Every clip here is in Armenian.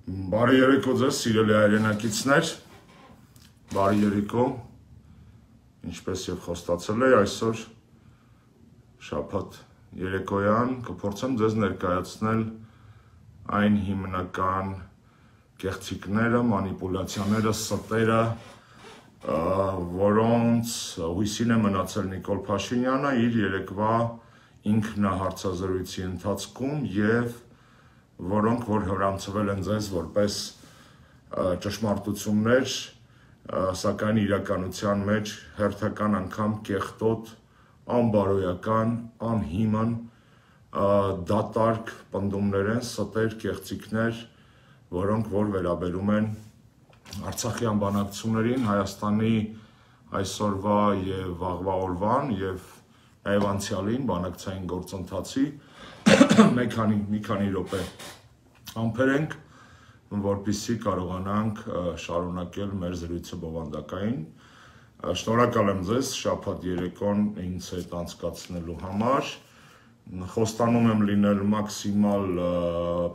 Բարի երեկո ձեզ, սիրելի հայրենակիցներ, բարի երեկո, ինչպես և խոստացել էի այսօր շաբաթ երեկոյան կփորձեմ ձեզ ներկայացնել այն հիմնական կեղծիքները, մանիպուլյացիաները, ստերը, որոնց հույսին է մնացել Նիկոլ Փաշինյանը իր երեկվա ինքնահարցազրույցի ընթացքում և որոնք որ հրամցվել են ձեզ որպես ճշմարտություններ, սակայն իրականության մեջ հերթական անգամ կեղտոտ, անբարոյական, անհիմն, դատարկ պնդումներ են, ստեր, կեղծիքներ, որոնք որ վերաբերում են Արցախյան բանակցություններին, Հայաստանի այսօրվա և վաղվա օրվան և նաև անցյալին բանակցային գործընթացի մի քանի րոպե համբերենք, որպեսզի կարողանանք շարունակել մեր զրույցը բովանդակային։ Շնորհակալ եմ ձեզ շաբաթ երեկոն ինձ հետ անցկացնելու համար։ Խոստանում եմ լինել մաքսիմալ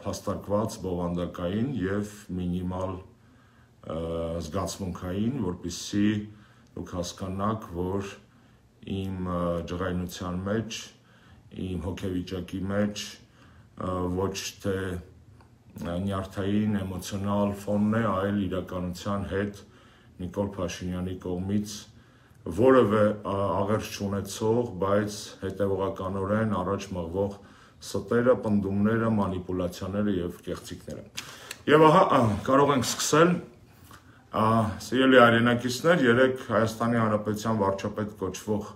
փաստարկված, բովանդակային և մինիմալ զգացմունքային, որպեսզի դուք հասկանաք, որ իմ ջղայնության մեջ, իմ հոգեվիճակի մեջ ոչ թե նյարդային էմոցիոնալ ֆոնն է, այլ իրականության հետ Նիկոլ Փաշինյանի կողմից որևէ աղերս չունեցող, բայց հետևողականորեն առաջ մղվող ստերը, պնդումները, մանիպուլյացիաները և կեղծիքները։ Եվ ահա կարող ենք սկսել, սիրելի հայրենակիցներ, երեկ Հայաստանի Հանրապետության վարչապետ կոչվող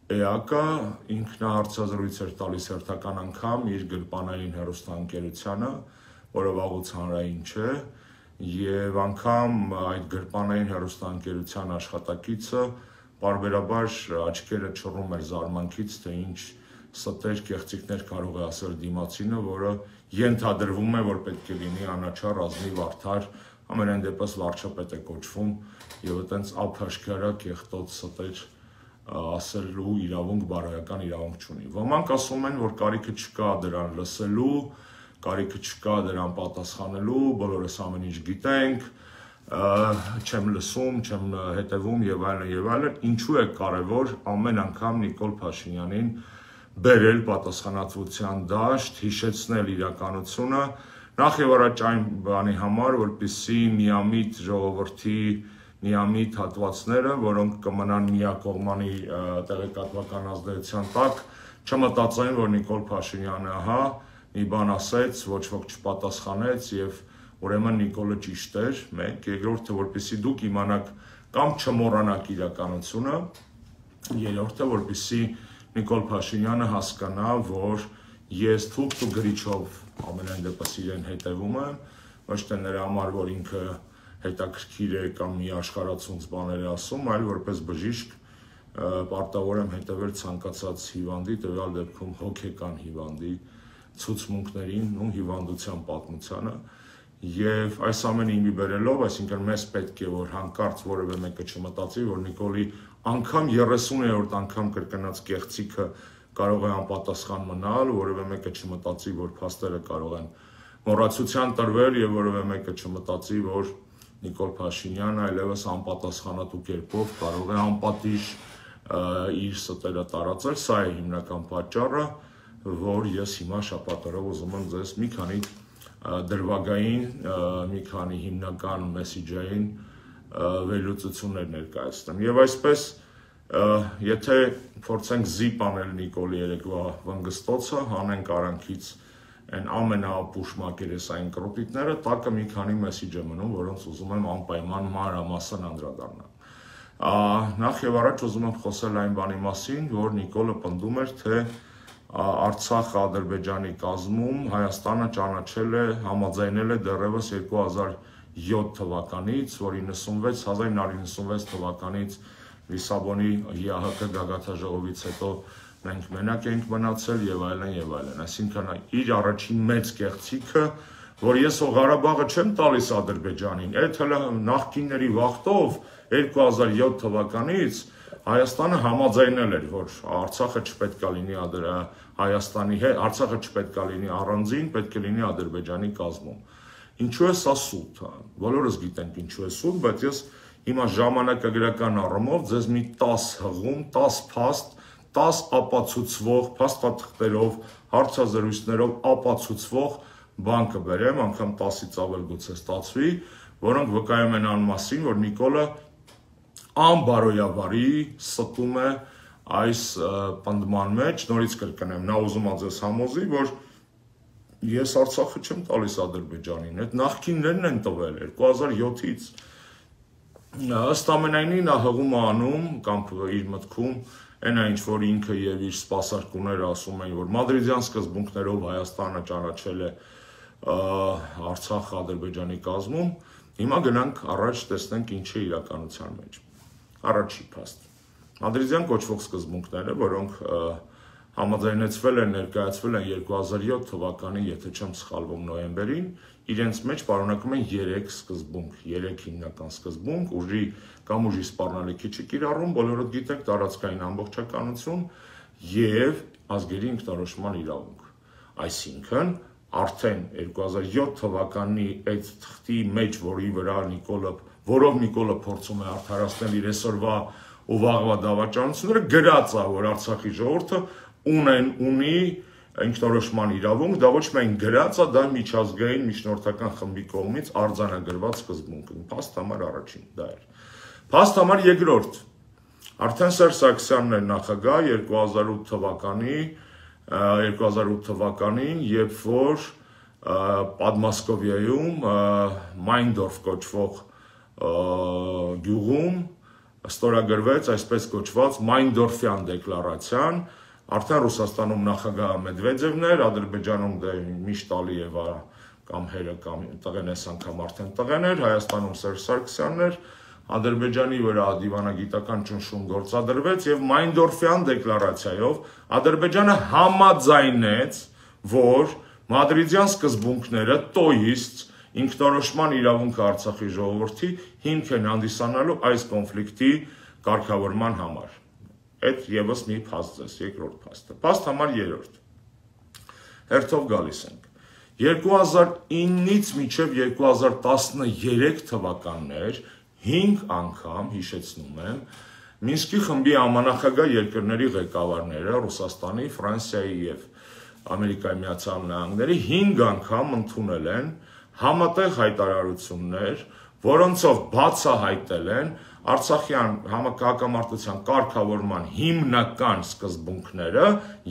ԵԱԿ-ը ինքնահարցազրույց էր տալիս հերթական անգամ իր գրպանային հեռուստաընկերությանը, որը վաղուց հանրային չէ, և անգամ այդ գրպանային հեռուստաընկերության աշխատակիցը պարբերաբար աչքերը չռում էր զարմանքից, թե ինչ ստեր կեղծիքներ կարող է ասել դիմացինը, որը ենթադրվում է, որ պետք է լինի անաչառ, ազնիվ, արդար, ամենայն դեպս վարչապետ է կոչվում և այտենց ափաշկարա կեղտոտ ստեր ասելու իրավունք, բարոյական իրավունք չունի։ Ոմանք ասում են, որ կարիքը չկա դրան լսելու, կարիքը չկա դրան պատասխանելու, բոլորս ամեն ինչ գիտենք, չեմ լսում, չեմ հետևում և այլն և այլն, ինչու է կարևոր ամեն անգամ Նիկոլ Փաշինյանին բերել պատասխանատվության դաշտ, հիշեցնել իրականությունը, նախ և առաջ այն բանի համար, որպեսզի միամիտ ժողովրդի միամիտ հատվածները, որոնք կմնան միակողմանի տեղեկատվական ազդեցության տակ, չմտածեն, որ Նիկոլ Փաշինյանը հա մի բան ասեց, ոչ ոք չպատասխանեց և ուրեմն Նիկոլը ճիշտ էր, մեկ, երկրորդը, որպեսզի դուք իմանաք կամ չմոռանաք իրականությունը, երրորդը, որպեսզի Նիկոլ Փաշինյանը հասկանա, որ ես թուղթ ու գրիչով ամենայն դեպս իրեն հետևում եմ, ոչ թե նրա համար, որ ինքը հետաքրքիր է կամ մի աշխարհացունց բաներ է ասում, այլ որպես բժիշկ պարտավոր եմ հետևել ցանկացած հիվանդի, տվյալ դեպքում հոգեկան հիվանդի ցուցմունքներին ու հիվանդության պատմությանը և այս ամենը իմի բերելով, այսինքն մեզ պետք է, որ հանկարծ որևէ մեկը չմտածի, որ Նիկոլի անգամ 30-րդ անգամ կրկնած կեղծիքը կարող է անպատասխան մնալ, որևէ մեկը չմտածի, որ փաստերը կարող են մոռացության տրվել և որևէ մեկը չմտածի, որ Նիկոլ Փաշինյանը այլևս անպատասխանատու կերպով կարող է անպատիժ իր ստերը տարածել, սա է հիմնական պատճառը, որ ես հիմա շաբաթ օրը ուզում եմ ձեզ մի քանի դրվագային, մի քանի հիմնական մեսիջային վերլուծություններ ներկայացնեմ։ Եվ այսպես, եթե փորձենք զիպ անել Նիկոլի երեկվա վնգստոցը, հանենք արանքից այն ամենաապուշ մակերեսային կրոտիկները, տակը մի քանի մեսիջ է մնում, որոնց ուզում եմ անպայման մանրամասն անդրադառնալ։ Նախ և առաջ ուզում եմ խոսել այն բանի մասին, որ Նիկոլը պնդում էր, թե Արցախը Ադրբեջանի կազմում Հայաստանը ճանաչել է, համաձայնել է դեռևս 2007 թվականից, որ 1996 թվականից Լիսաբոնի ԵԱՀԿ գագաթնաժողովից հետո մենք մենակ ենք մնացել և այլն և այլն, այսինքն իր առաջին մեծ կեղծիքը, որ ես Ղարաբաղը չեմ տալիս Ադրբեջանին, այդ հələ նախկինների վախտով 2007 թվականից Հայաստանը համաձայնել էր, որ Արցախը չպետք է լինի Հայաստանի հետ, Արցախը չպետք է լինի առանձին, պետք է լինի Ադրբեջանի կազմում։ Ինչու է սա սուտ, բոլորս գիտենք ինչու է սուտ, բայց ես հիմա ժամանակագրական առումով ձեզ մի 10 հղում, 10 փաստ, 10 ապացուցվող փաստաթղթերով, հարցազրույցներով ապացուցվող բան կբերեմ, անգամ 10-ից ավել գուցե ստացվի, որոնք վկայում են այն մասին, որ Նիկոլը անբարոյաբարի ստում է այս պնդման մեջ, նորից կրկնեմ, նա ուզում է ձեզ համոզի, որ ես Արցախը չեմ տալիս Ադրբեջանին, այդ նախկիններն են տվել 2007-ից։ Ըստ ամենայնի նա հղում է անում կամ իր մտքում այն ինչ որ ինքը եւ իր սպասարկուները ասում են, որ մադրիդյան սկզբունքներով Հայաստանը ճանաչել է Արցախը Ադրբեջանի կազմում, հիմա գնանք առաջ տեսնենք ինչ է իրականության մեջ։ Առաջի փաստ։ Մադրիդյան կոչվող սկզբունքները, որոնք համաձայնեցվել են, ներկայացվել են 2007 թվականի, եթե չեմ սխալվում, նոյեմբերին, իրենց մեջ պարունակում են 3 սկզբունք, 3 հիմնական սկզբունք, ուժի կամ ուժի սպառնալիքի չկիրառում, բոլորդ գիտեք, տարածքային ամբողջականություն եւ ազգերի ինքնորոշման իրավունք։ Այսինքն, արդեն 2007 թվականի այդ թղթի մեջ, որով Նիկոլը փորձում է արդարացնել իր այսօրվա ու վաղվա դավաճանությունները, գրած է, որ Արցախի ժողովուրդը ունի ինքնորոշման իրավունք, դա ոչ միայն գրած է, դա միջազգային միջնորդական խմբի կողմից արձանագրված սկզբունք է։ Փաստ համար առաջին դա էր։ Փաստ համար երկրորդ։ Արդեն Սերժ Սարգսյանն էր նախագահ 2008 թվականին, երբ որ Պատմասկովիայում Մայնդորֆ կոչվող գյուղում ստորագրվեց այսպես կոչված Մայնդորֆյան դեկլարացիան, արդեն Ռուսաստանում նախագահը Մեդվեդևն էր, Ադրբեջանում դե միշտ Ալիևը կամ հերը կամ տղեն այս անգամ արդեն տղեն էր, Հայաստանում Սերժ Սարգսյանն էր, Ադրբեջանի վրա դիվանագիտական ճնշում գործադրվեց եւ Մայնդորֆյան դեկլարացիայով Ադրբեջանը համաձայնեց, որ մադրիդյան սկզբունքները տոիստ ինքնորոշման իրավունքը Արցախի ժողովրդի հիմք են հանդիսանալու այս կոնֆլիկտի կարգավորման համար։ Այդ եւս մի փաստ է, երկրորդ փաստը։ Փաստ համար 3։ Հերթով գալիս ենք։ 2009-ից մինչև 2013 թվականներ 5 անգամ, հիշեցնում եմ, Մինսկի խմբի համանախագահ երկրների ղեկավարները Ռուսաստանի, Ֆրանսիայի եւ Ամերիկայի Միացյալ Նահանգների 5 անգամ ընդունել են համատեղ հայտարարություններ, որոնցով բացահայտել են Արցախյան հակամարտության կարգավորման հիմնական սկզբունքները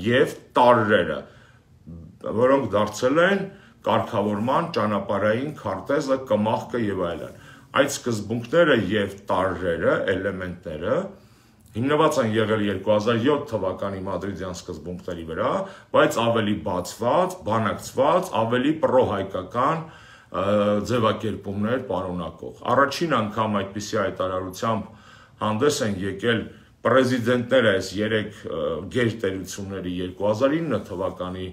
եւ տարրերը, որոնք դարձել են կարգավորման ճանապարհային քարտեզը, կմախքը եւ այլն։ Այդ սկզբունքները եւ տարրերը, էլեմենտները հիմնված են եղել 2007 թվականի մադրիդյան սկզբունքների վրա, բայց ավելի բացված, բանակցված, ավելի պրոհայկական ձևակերպումներ պարունակող։ Առաջին անգամ այդպիսի հայտարարությամբ հանդես են եկել պրեզիդենտները այս 3 գերտերությունների 2009 թվականի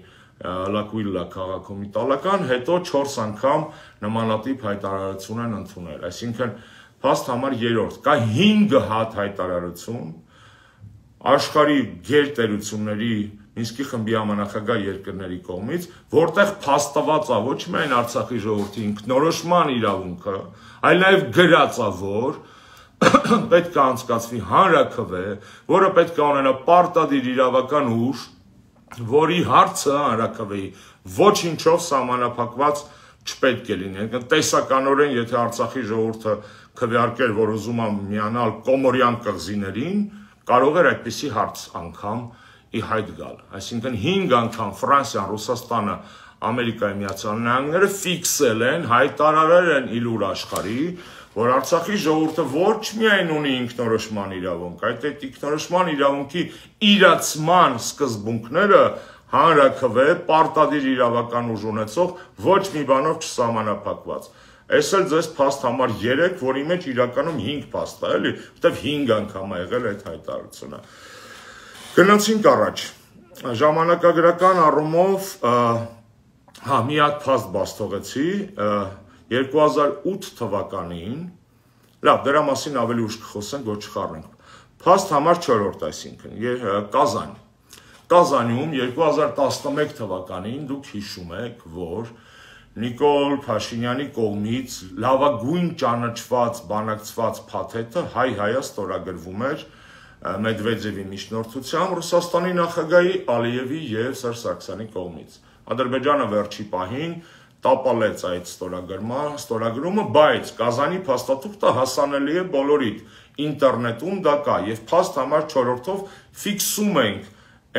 Լակուիլա քաղաքում իտալական, հետո 4 անգամ նմանատիպ հայտարարություն են ընդունել։ Այսինքն փաստ համար 3 կա 5 հատ հայտարարություն աշխարհի գերտերությունների Մինսկի խմբի համանախագահ երկրների կողմից, որտեղ փաստված է ոչ միայն Արցախի ժողովրդի ինքնորոշման իրավունքը, այլ նաև գրած է, որ պետք է անցկացվի հանրաքվե, որը պետք է ունենա պարտադիր իրավական ուժ, որի հարցը հանրաքվեի ոչինչով սահմանափակված չպետք է լինի։ Տեսականորեն, եթե Արցախի ժողովուրդը քվեարկեր, որ ուզում է միանալ Կոմորյան կղզիներին, կարող էր այդպիսի հարց անգամ ի հայտ գալ։ Այսինքն 5 անգամ Ֆրանսիան, Ռուսաստանը, Ամերիկայի Միացյալ Նահանգները ֆիքսել են, հայտարարել են իլուր աշխարհի, որ Արցախի ժողովուրդը ոչ միայն ունի ինքնորոշման իրավունք, այդ ինքնորոշման իրավունքի իրացման սկզբունքները հանրաքվե, պարտադիր իրավական ուժ ունեցող ոչ մի բանով չսահմանափակված։ Այս էլ ձեզ փաստ համար 3, որի մեջ իրականում 5 փաստ է, էլի, որտեվ 5 անգամ է եղել այդ հայտարարությունը։ Գնացինք առաջ, ժամանակագրական առումով, մի հատ փաստ բաց թողեցի, 2008 թվականին, լավ, դրա մասին ավելի ուշ կխոսենք, որ չխառնենք, փաստ համար 4, այսինքն, Կազան, Կազանում 2011 թվականին դուք հիշում եք, որ Նիկոլ Փաշինյանի կողմից լավագույն ճանաչված բանակցված փաթեթը հայ-հայա ստորագրվում էր Մեդվեդևի միջնորդությամբ Ռուսաստանի նախագահի Ալիևի եւ Սերժ Սարգսյանի կողմից։ Ադրբեջանը վերջի պահին տապալեց այդ ստորագրումը, բայց Կազանի փաստաթուղթը հասանելի է բոլորիդ, ինտերնետում դա կա եւ փաստ համար 4-ով ֆիքսում ենք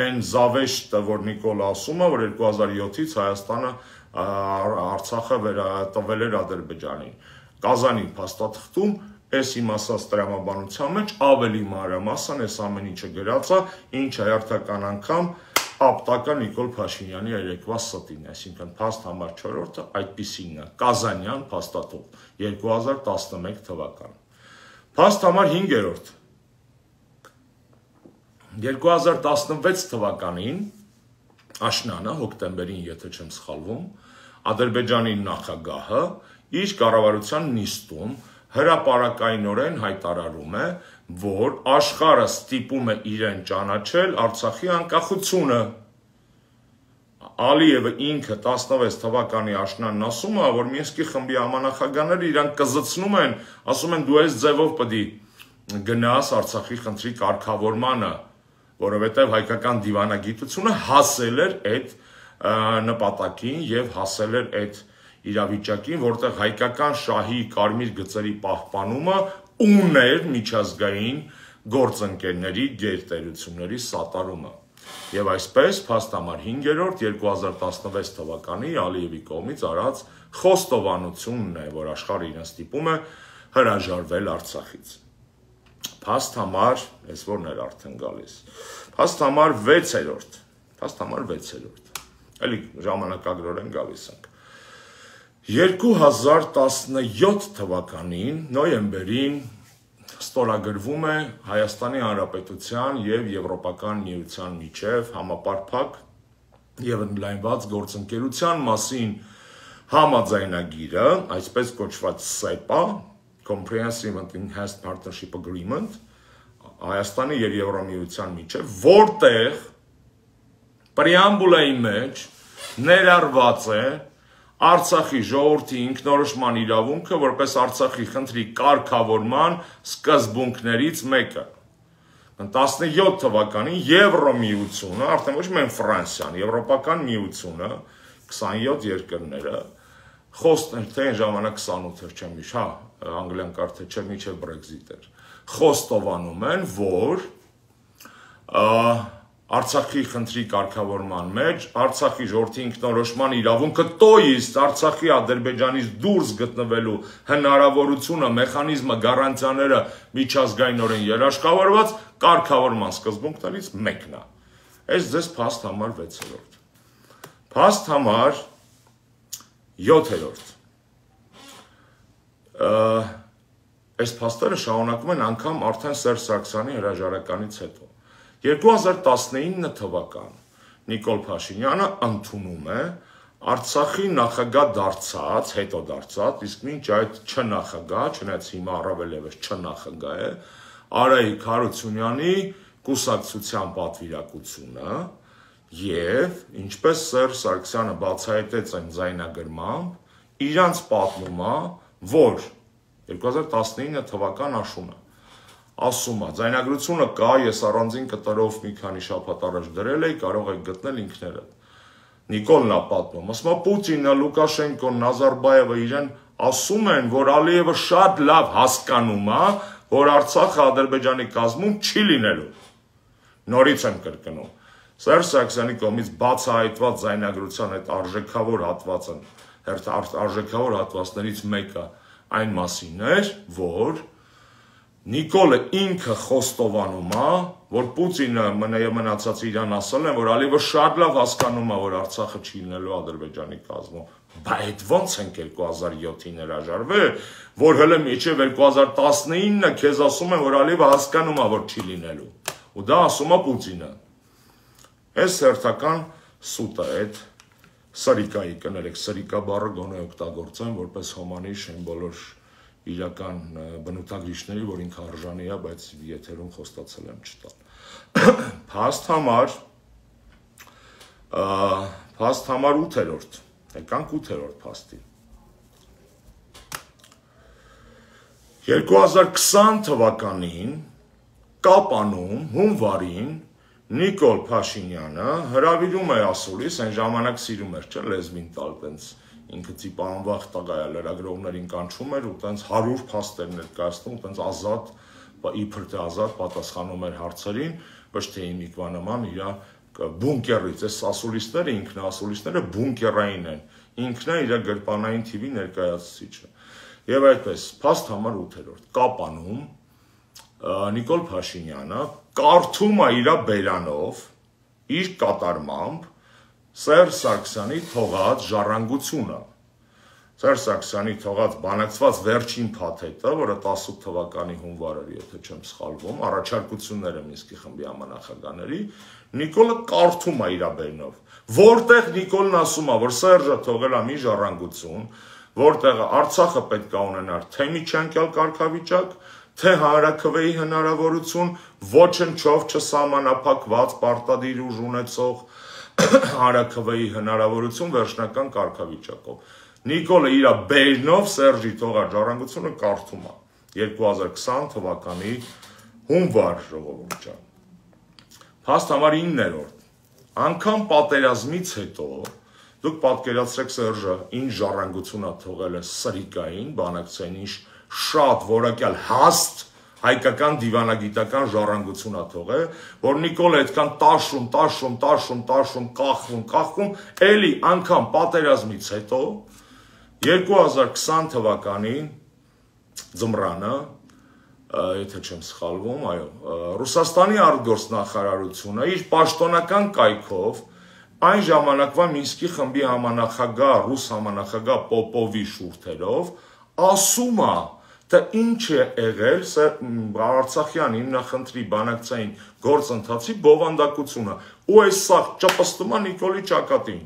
այն զավեշտը, որ Նիկոլը ասում է, որ 2007-ից Հայաստանը Արցախը տվել էր Ադրբեջանին։ Կազանի փաստաթղթում այս իմ ասած տրամաբանության մեջ ավելի մանրամասն այս ամեն ինչը գրած է, ինչը հերթական անգամ ապտակա Նիկոլ Փաշինյանի երեկվա ստին, այսինքն փաստ համար 4-ը այդպիսին է, Կազանյան փաստաթուղթ 2011 թվական։ Փաստ համար 5-րդ 2016 թվականին աշնանը, հոկտեմբերին, եթե չեմ սխալվում, Ադրբեջանի նախագահը իր կառավարության նիստում հրապարակայնորեն հայտարարում է, որ աշխարհը ստիպում է իրեն ճանաչել Արցախի անկախությունը։ Ալիևը ինքը 16 թվականի աշնանն ասում է, որ Մինսկի խմբի համանախագահները իրան կզցնում են, ասում են դու այս ձևով պետք է գնաս Արցախի խնդրի կարգավորմանը, որովհետև հայկական դիվանագիտությունը հասել էր այդ նպատակին եւ հասել էր այդ իրավիճակին, որտեղ հայկական շահի կարմիր գծերի պահպանումը ուներ միջազգային գործընկերների գերտերությունների սատարումը։ Եվ այսպես փաստ համար 5-րդ 2016 թվականի Ալիևի կողմից արած խոստովանությունն է, որ աշխարհը իրեն ստիպում է հրաժարվել Արցախից։ Փաստ համար, այս որն էր արդեն գալիս։ Փաստ համար 6-րդ։ Փաստ համար 6-րդ։ Էլի ժամանակագրորեն գալիս ենք։ 2017 թվականին նոյեմբերին ստորագրվում է Հայաստանի Հանրապետության եւ Եվրոպական միության միջև համապարփակ եւ ընդլայնված գործընկերության մասին համաձայնագիրը, այսպես կոչված SEPA, Comprehensive and Enhanced Partnership Agreement, Հայաստանի եւ Եվրոմիության միջև, որտեղ պրեամբուլայի մեջ ներառված է Արցախի ժողովրդի ինքնորոշման իրավունքը որպես Արցախի խնդրի կարգավորման սկզբունքներից մեկը։ 17 թվականին Եվրոմիությունը, արդեն ոչ միայն Ֆրանսիան, Եվրոպական միությունը, 27 երկրները, թե այն ժամանակ 28 էր, չեմ հիշ, անգլիան կարթե չէ, միջև Brexit էր, խոստովանում են, որ Արցախի խնդրի կարգավորման մեջ Արցախի ժողովրդի ինքնորոշման իրավունքը տոիստ Արցախի Ադրբեջանից դուրս գտնվելու հնարավորությունը, մեխանիզմը, գարանտիաները միջազգայինորեն երաշխավորված կարգավորման սկզբունքներից մեկն է։ Այս ձեզ փաստ համար 6-րդ։ Փաստ համար 7-րդ։ Այս փաստերը շարունակվում են անգամ արդեն Սերժ Սարգսյանի հրաժարականից հետո։ 2019 թվական Նիկոլ Փաշինյանը ընդունում է Արցախի նախագահ դարձած, հետո դարձած, իսկ մինչ այդ չնախագահ, չնայած հիմա առավել ևս չնախագահ է, Արայիկ Հարությունյանի կուսակցության պատվիրակությունը եւ ինչպես Սերժ Սարգսյանը բացահայտեց այն ձայնագրմամբ, իրանց պատմում է, որ 2019 թվական աշունը ասում է, ձայնագրությունը կա, ես առանձին կտրով մի քանի շաբաթ առաջ դրել էի, կարող եք գտնել ինքներդ։ Նիկոլն է պատմում, ասում է Պուտինը, Լուկաշենկոն, Նազարբաևը իրեն ասում են, որ Ալիևը շատ լավ հասկանում է, որ Արցախը Ադրբեջանի կազմում չի լինելու։ Նորից եմ կրկնում։ Սերժ Սարգսյանի կողմից բացահայտված ձայնագրության այդ արժեքավոր հատվածներից մեկը այն մասին էր, որ Նիկոլը ինքը խոստովանում է, որ Պուտինը մնացած իրան ասել են, որ Ալիևը շատ լավ հասկանում է, որ Արցախը չի լինելու Ադրբեջանի կազմում։ Բա այդ ո՞նց ենք 2007-ին հրաժարվել, որ հələ միջև 2019-ը քեզ ասում են, որ Ալիևը հասկանում է, որ չի լինելու։ Ու դա ասում է Պուտինը։ Այս հերթական սուտը այդ սրիկայի կներեք, սրիկա բառը գոնե օգտագործեմ, որպես հոմանիշ են բոլոր իրական բնութագրիչների, որ ինքը արժանի է, բայց եթերում խոստացել եմ չտալ։ Փաստ համար 8-րդ, Եկանք 8-րդ փաստի։ 2020 թվականին Կապանում, հունվարին Նիկոլ Փաշինյանը հրավիրում է ասուլիս, այն ժամանակ սիրում էր, չէ, լեզվին տալ, տենց ինքը ծիպանվախ տղա է, լրագրողներին կանչում էր ու տենց 100 փաստեր ներկայացնում, տենց ազատ, իբր թե ազատ պատասխանում էր հարցերին, ոչ թե Նիկվա նման իր բունկերից, այս ասուլիսները, ինքնասուլիսները բունկերային են, ինքն է իր գրպանային թիվի ներկայացուցիչը։ Եվ այդպես, փաստ համար 8-րդ, Կապանում Նիկոլ Փաշինյանը կարդում է իր բերանով, իր կատարմամբ Սերժ Սարգսյանի թողած ժառանգությունը։ Սերժ Սարգսյանի թողած բանակցված վերջին փաթեթը, որը 18 թվականի հունվար էր, եթե չեմ սխալվում, առաջարկությունները Մինսկի խմբի համանախագահների, Նիկոլը կարդում է իր բերանով, որտեղ Նիկոլն ասում է, որ Սերժը թողել է մի ժառանգություն, որտեղ Արցախը պետք է ունենար թե միջանկյալ կարգավիճակ, թե հանրաքվեի հնարավորություն, ոչնչով չսահմանափակված պարտադիր ուժ ունեցող հանրաքվեի հնարավորություն վերջնական կարգավիճակով։ Նիկոլը իր բերնով Սերժի թողած ժառանգությունը կարդում է 2020 թվականի հունվար ժողովուրդ ջան։ Փաստ համար 9-րդ, անգամ պատերազմից հետո դուք պատկերացրեք Սերժը ինչ ժառանգություն է թողել է սրիկային, բանակցային ինչ շատ որակյալ հաստ հայկական դիվանագիտական ժառանգություն է թողել, որ Նիկոլը այդքան տաշում, կախվում, էլի անգամ պատերազմից հետո 2020 թվականի ձմռանը, եթե չեմ սխալվում, այո, Ռուսաստանի արտգործնախարարությունը իր պաշտոնական կայքով այն ժամանակվա Մինսկի խմբի համանախագահ, ռուս համանախագահ Պոպովի շուրթերով ասում է, թե ինչ է եղել Արցախյան հիմնախնդրի բանակցային գործընթացի բովանդակությունը ու այս սաղ ճպստում է Նիկոլի ճակատին։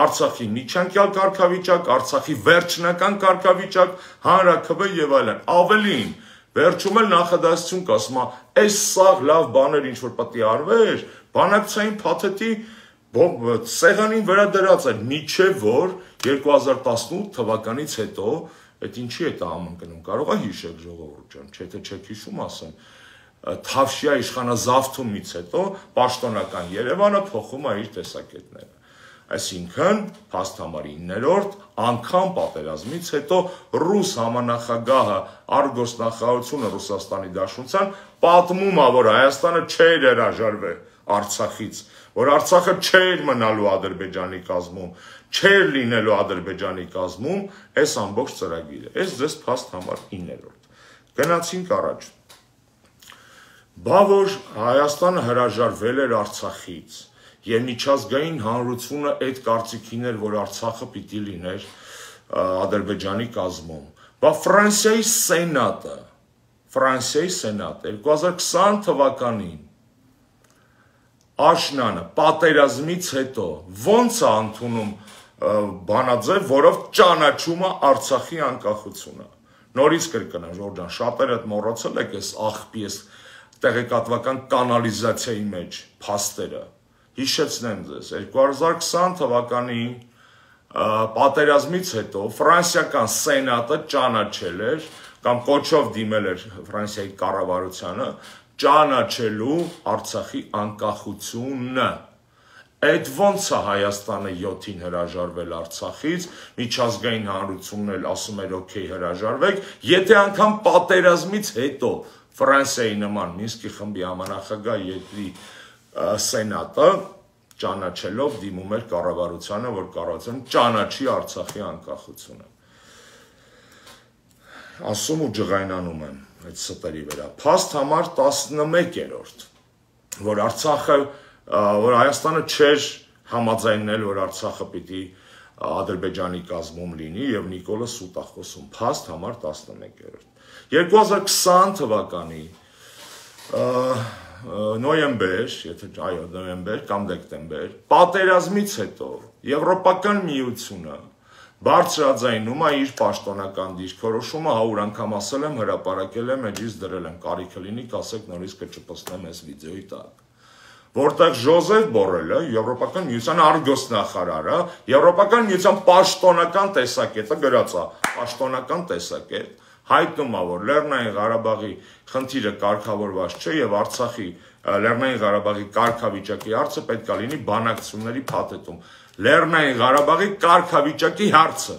Արցախի միջանկյալ կարգավիճակ, Արցախի վերջնական կարգավիճակ, հանրաքվե եւ այլն։ Ավելին, վերջում էլ նախադասություն կա, ասում է, այս սաղ լավ բաներ ինչ որ պետք է արվեր, բանակցային փաթեթի սեղանին վրա դրած էր, միջև որ 2018 թվականից հետո այդ ինչի է համընկնում, կարող է հիշեք ժողովուրդ ջան, չէ թե չեք հիշում ասեմ, Թավշյա իշխանազավթումից հետո պաշտոնական Երևանը փոխում է իր տեսակետները։ Այսինքն, փաստ համար 9-րդ, անգամ պատերազմից հետո ռուս համանախագահը արտգործնախարարությունը Ռուսաստանի Դաշնության պատմում է, որ Հայաստանը չէր հրաժարվել Արցախից, որ Արցախը չէր մնալու Ադրբեջանի կազմում, չէր լինելու Ադրբեջանի կազմում, այս ամբողջ ծրագիրը։ Այս ձեզ փաստ համար 9-րդ։ Գնացինք առաջ։ Բա որ Հայաստանը հրաժարվել էր Արցախից, եւ միջազգային հանրությունը այդ կարծիքին էր, որ Արցախը պիտի լիներ Ադրբեջանի կազմում։ Բա Ֆրանսիայի Սենատը 2020 թվականին Աշնանը պատերազմից հետո ոնց է ընդունում բանաձև, որով ճանաչում է Արցախի անկախությունը։ Նորից կրկնեմ, Ժորժ ջան, շատերը մոռացել եք այս աղբի, այս տեղեկատվական կանալիզացիայի մեջ փաստերը։ Հիշեցնեմ ձեզ, 2020 թվականի պատերազմից հետո ֆրանսիական սենատը ճանաչել էր կամ կոչով դիմել էր Ֆրանսիայի կառավարությանը ճանաչելու Արցախի անկախությունը։ Այդ ոնց է Հայաստանը 7-ին հրաժարվել Արցախից, միջազգային հանրությունն էլ ասում էր օքեյ հրաժարվեք, եթե անգամ պատերազմից հետո Ֆրանսիայի նման Մինսկի խմբի համանախագահ երկրի սենատը ճանաչելով դիմում էր կառավարությանը, որ կառավարությունը ճանաչի Արցախի անկախությունը։ Ասում ու ջղայնանում եմ այդ ստերի վրա։ Փաստ համար 11-րդ, որ Արցախը, որ Հայաստանը չէր համաձայնել, որ Արցախը պիտի Ադրբեջանի կազմում լինի եւ Նիկոլը սուտ է խոսում։ Փաստ համար 11-րդ։ 2020 թվականի նոյեմբեր, եթե այո, նոյեմբեր կամ դեկտեմբեր, պատերազմից հետո Եվրոպական միությունը բարձրաձայնում է իր պաշտոնական դիրքորոշումը, 100 անգամ ասել եմ, հրապարակել եմ, էջից դրել եմ, կարիքը լինի, կասեք նորից կճպցնեմ այս վիդեոյի տակ, որտեղ Ժոզեֆ Բորելը, Եվրոպական միության արգոսնախարարը, Եվրոպական միության պաշտոնական տեսակետը գրած է, պաշտոնական տեսակետ, հայտնում է, որ Լեռնային Ղարաբաղի խնդիրը կարգավորված չէ եւ Արցախի Լեռնային Ղարաբաղի կարգավիճակի հարցը պետք է լինի բանակցությունների փաթեթում։ Լեռնային Ղարաբաղի կարգավիճակի հարցը։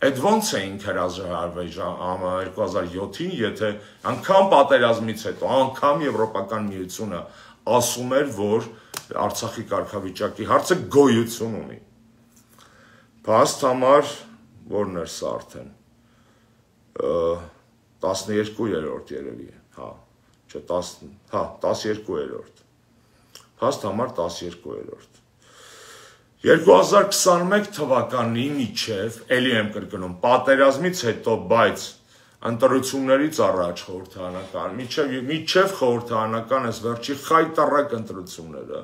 Այդ ոնց էինք հրաժարվել 2007-ին, եթե անգամ պատերազմից հետո, անգամ Եվրոպական միությունը ասում էր, որ Արցախի կարգավիճակի հարցը գոյություն ունի։ Փաստ համար որն էր սա արդեն 12-րդ երևի է, հա, չէ, 12-րդ։ Փաստ համար 12-րդ։ 2021 թվականի միջև, էլի եմ կրկնում, պատերազմից հետո, բայց ընտրություններից առաջ խորհրդարանական, միջև խորհրդարանական այս վերջի խայտառակ ընտրությունները,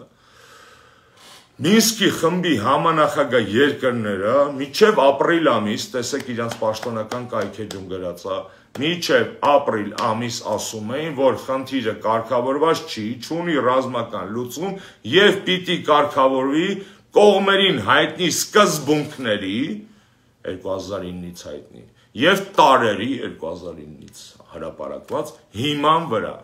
Մինսկի խմբի համանախագահ երկրները միջև ապրիլ ամիս, տեսեք իրանց պաշտոնական կայքեջում գրած է, միջև ապրիլ ամիս ասում էին, որ խնդիրը կարգավորված չի, չունի ռազմական լուծում եւ պիտի կարգավորվի կողմերին հայտնի սկզբունքների 2009-ից հայտնի եւ տարերի 2009-ից հրապարակված հիման վրա։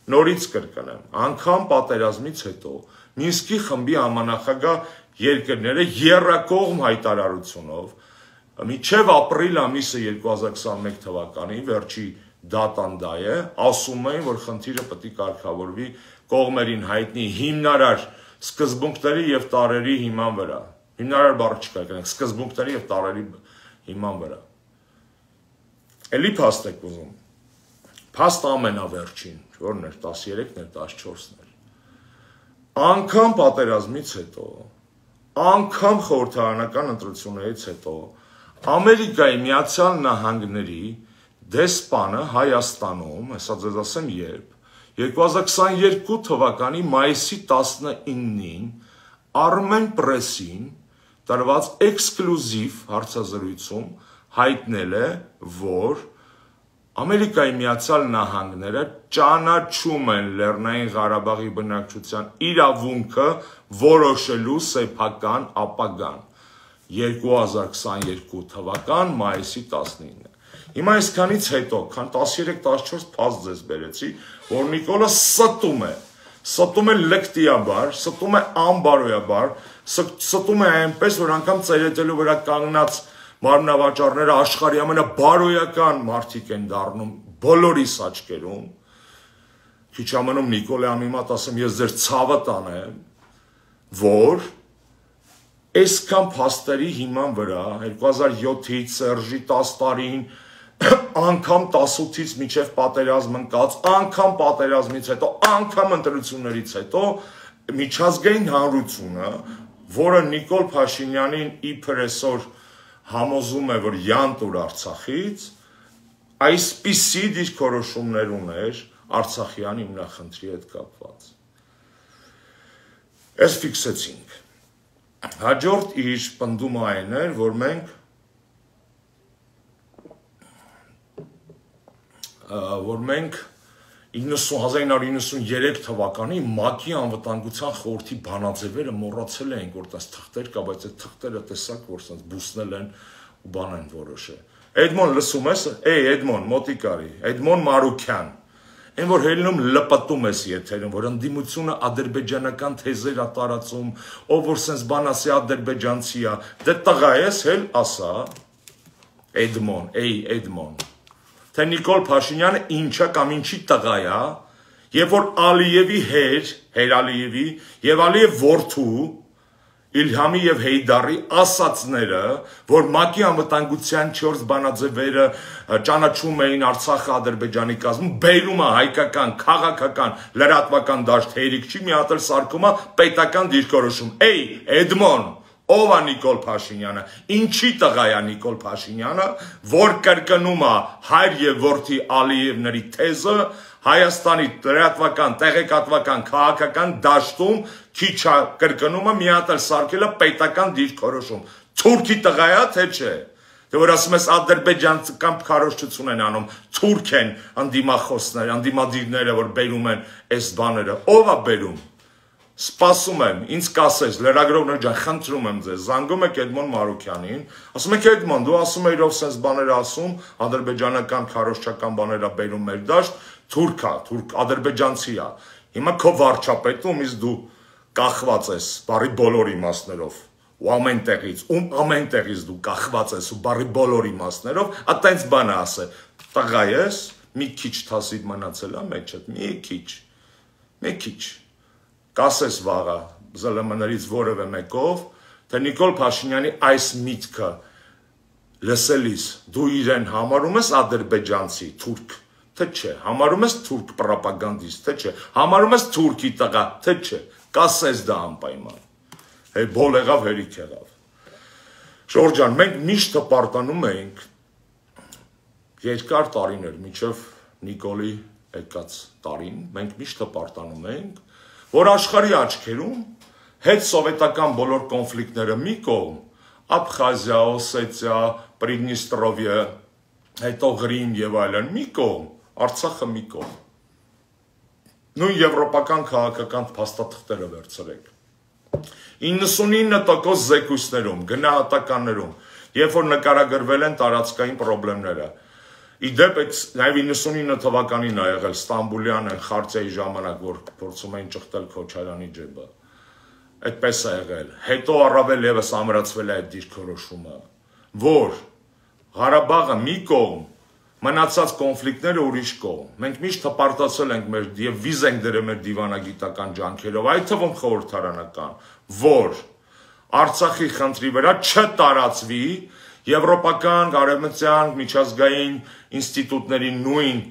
Նորից կրկնեմ, անգամ պատերազմից հետո Մինսկի խմբի համանախագահ երկրները եռակողմ հայտարարությունով միջև ապրիլ ամիսը 2021 թվականի վերջի դատան դա է, ասում էին, որ խնդիրը պետք է կարգավորվի կողմերին հայտնի հիմնարար սկզբունքների եւ տարերի հիման վրա։ Հիմնարար բառը չկա, գնանք սկզբունքների եւ տարերի հիման վրա։ Էլի փաստ եք ուզում։ Փաստ ամենավերջին, որն էր 13-ն էր, 14-ն էր։ Անգամ պատերազմից հետո, անգամ խորհրդարանական ընտրություններից հետո Ամերիկայի Միացյալ Նահանգների դեսպանը Հայաստանում, հեսա ձեզ ասեմ երբ, 2022 թվականի մայիսի 19-ին Armen Press-ին տրված էքսկլյուզիվ հարցազրույցում հայտնել է, որ Ամերիկայի Միացյալ Նահանգները ճանաչում են Լեռնային Ղարաբաղի բնակչության իրավունքը որոշելու սեփական ապագան 2022 թվական մայիսի 19-ը։ Հիմա այսքանից հետո, քան 13-14 փաստ ձեզ բերեցի, որ Նիկոլը ստում է լկտիաբար, ստում է անբարոյաբար, ստում է այնպես, որ անգամ ծերետելու վրա կանգնած մարմնավաճառները աշխարհի ամենաբարոյական մարդիկ են դառնում բոլորիս աչքերում։ Քիչ ամնում Նիկոլը անիմատ ասեմ, ես ձեր ցավը տանեմ, որ այսքան փաստերի հիման վրա 2007-ից Սերժի 10 տարին անգամ 18-ից մինչև պատերազմ ընկած, անգամ պատերազմից հետո, անգամ ընտրություններից հետո միջազգային հանրությունը, որը Նիկոլ Փաշինյանին իբր այսօր համոզում է, որ յանտուր Արցախից, այսպիսի դիրքորոշումներ ուներ Արցախյան հիմնախնդրի հետ կապված։ Այս ֆիքսեցինք։ Հաջորդ իր պնդումը այն էր, որ մենք 1993 թվականի ՄԱԿ-ի անվտանգության խորհրդի բանաձևերը մոռացել ենք, որ տես թղթեր կա, բայց այդ թղթերը տեսակ, որ սենց բուսնել են ու բան են որոշել։ Էդմոն լսում ես, Էդմոն, մոտիկ արի, Էդմոն Մարուքյան, այն որ հելնում լպտում ես եթերում, որ ընդդիմությունը ադրբեջանական թեզեր է տարածում, ով որ սենց բան ասի ադրբեջանցի է, դե տղա ես հել ասա, Էդմոն, թե Նիկոլ Փաշինյանը ինչա կամ ինչի տղա է, երբ որ Ալիևի Հեր Ալիևի եւ Ալիև որդու Իլհամի եւ Հեյդարի ասացները, որ ՄԱԿ-ի անվտանգության 4 բանաձևերը ճանաչում էին Արցախը Ադրբեջանի կազմում, բերում է հայկական, քաղաքական, լրատվական դաշտ հերիք չի, մի հատ էլ սարքում է պետական դիրքորոշում։ Էդմոն, ով է Նիկոլ Փաշինյանը, ինչի տղա է Նիկոլ Փաշինյանը, որ կրկնում է հայր եւ որդի Ալիևների թեզը Հայաստանի լրատվական, տեղեկատվական, քաղաքական դաշտում քիչ կրկնումը մի հատ էլ սարքել է պետական դիրքորոշում։ Թուրքի տղա է, թե չէ։ Դե որ ասում ես ադրբեջանցական քարոզչություն են անում, թուրք են անդիմախոսներ, անդիմադիրները, որ բերում են այս բաները, ով է բերում։ Սպասում եմ, ինձ կասես, լրագրողներ ջան, խնդրում եմ ձեզ, զանգում եք Էդմոն Մարուքյանին, ասում եք Էդմոն, դու ասում ես ով sense բաներ ասում, ադրբեջանական քարոզչական բաներ է բերում մեր դաշտ, թուրք է, թուրք ադրբեջանցի է։ Հիմա քո վարչապետում իս դու կախված ես բարի բոլոր իմաստներով, ու ամեն տեղից դու կախված ես ու բարի բոլոր իմաստներով, այտենց բան ասե, տղա ես, մի քիչ թասիդ մնացել է մեջդ, մի քիչ կասես վաղը ԶԼՄ-ներից որևէ մեկով, թե Նիկոլ Փաշինյանի այս միտքը լսելիս դու իրեն համարում ես ադրբեջանցի, թուրք, թե չէ, համարում ես թուրք պրոպագանդիստ, թե չէ, համարում ես թուրքի տղա, թե չէ, կասես դա անպայման, բոլ եղավ, հերիք եղավ։ Ժորժ ջան, մենք միշտ հպարտանում ենք երկար տարիներ, մինչև Նիկոլի եկած տարին, մենք միշտ հպարտանում ենք, որ աշխարհի աչքերում հետ սովետական բոլոր կոնֆլիկտները մի կողմ, Աբխազիա, Օսետիա, Պրիդնիստրովիա, հետո Ղրիմ եւ այլն մի կողմ, Արցախը մի կողմ։ Նույն եվրոպական քաղաքական փաստաթղթերը վերցրեք։ 99% զեկույցներում, գնահատականներում, երբ որ նկարագրվել են տարածքային խնդիրները, իդեպ նաև 99 թվականին է եղել Ստամբուլյան խարցիայի ժամանակ, որ փորձում էին ճխտել Քոչարյանի ջեբը։ Այդպես է եղել։ Հետո առավել ևս ամրացվել է այդ դիրքորոշումը, որ Ղարաբաղը մի կողմ, մնացած կոնֆլիկտները ուրիշ կողմ։ Մենք միշտ հպարտացել ենք մեր եւ վիզ ենք դրել մեր դիվանագիտական ջանքերով, այդ թվում խորհրդարանական, որ Արցախի խնդրի վրա չտարածվի եվրոպական, արևմտյան, միջազգային ինստիտուտների նույն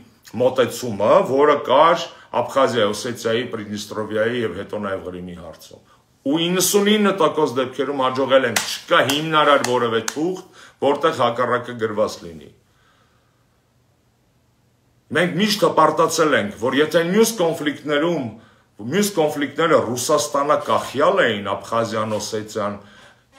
մոտեցումը, որը կար Աբխազիայի, Օսետիայի, Պրիդնիստրովիայի եւ հետո նաեւ Ղրիմի հարցում։ Ու 99% դեպքերում հաջողել են, չկա հիմնարար որևէ թուղթ, որտեղ հակառակը գրված լինի։ Մենք միշտ հպարտացել ենք, որ եթե մյուս կոնֆլիկտները Ռուսաստանը կախյալ էին, Աբխազիան, Օսետիան,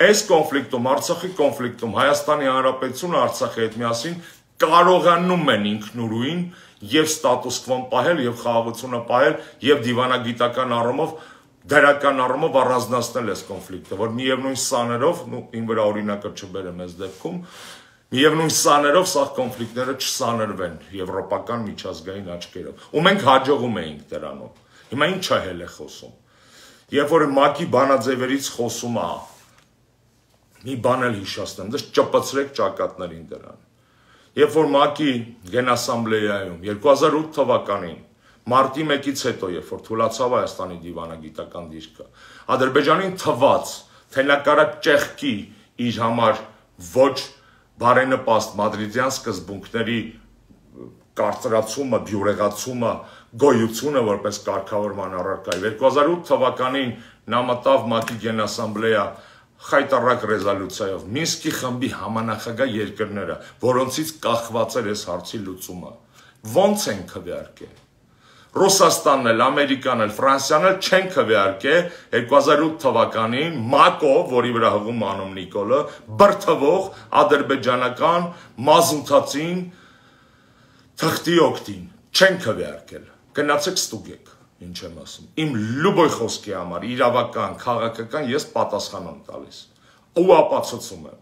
այս կոնֆլիկտում, Արցախի կոնֆլիկտում, Հայաստանի Հանրապետությունը Արցախի հետ միասին կարողանում են ինքնուրույն եւ ստատուս քվոն պահել եւ խաղաղությունը պահել եւ դիվանագիտական առումով, դրական առումով առանձնացնել այս կոնֆլիկտը, որ միևնույն սաներով, ին վրա օրինակը չբերեմ այս դեպքում, միևնույն սաներով սա կոնֆլիկտները չսաներվեն եվրոպական միջազգային աչքերով։ Ու մենք հաջողում էինք դրանով։ Հիմա ինչ է հել է խոսում։ Երբ որ ՄԱԿ-ի բանաձևերից խոսում է, մի բան էլ հիշեցնեմ, դες ճպցրեք ճակատներին դրան։ Երբ որ ՄԱԿ-ի Գենասամբլեայում 2008 թվականին մարտի 1-ից հետո, երբ որ թուլացավ Հայաստանի դիվանագիտական դիրքը, Ադրբեջանին թվաց, թե նա կարա ճեղքի իր համար ոչ բարենպաստ մադրիդյան սկզբունքների կարծրացումը, բյուրեղացումը, գոյությունը որպես կարգավորման առարկա։ 2008 թվականին նա մտավ ՄԱԿ-ի Գենասամբլեա խայտարակ ռեզոլյուցիայով Մինսկի խմբի համանախագահ երկրները, որոնցից կախված էր այս հարցի լուծումը։ Ոնց են քվեարկել։ Ռուսաստանն էլ, Ամերիկան էլ, Ֆրանսիան էլ չեն քվեարկել 2008 թվականին ՄԱԿ-ով, որի վրա հղում անում Նիկոլը, բրթվող ադրբեջանական մազութացին թղթի օգտին, չեն քվեարկել։ Գնացեք ստուգեք, ինչ եմ ասում։ Իմ լուբոյ խոսքի համար, իրավական, քաղաքական ես պատասխան եմ տալիս։ Ու ապացուցում եմ։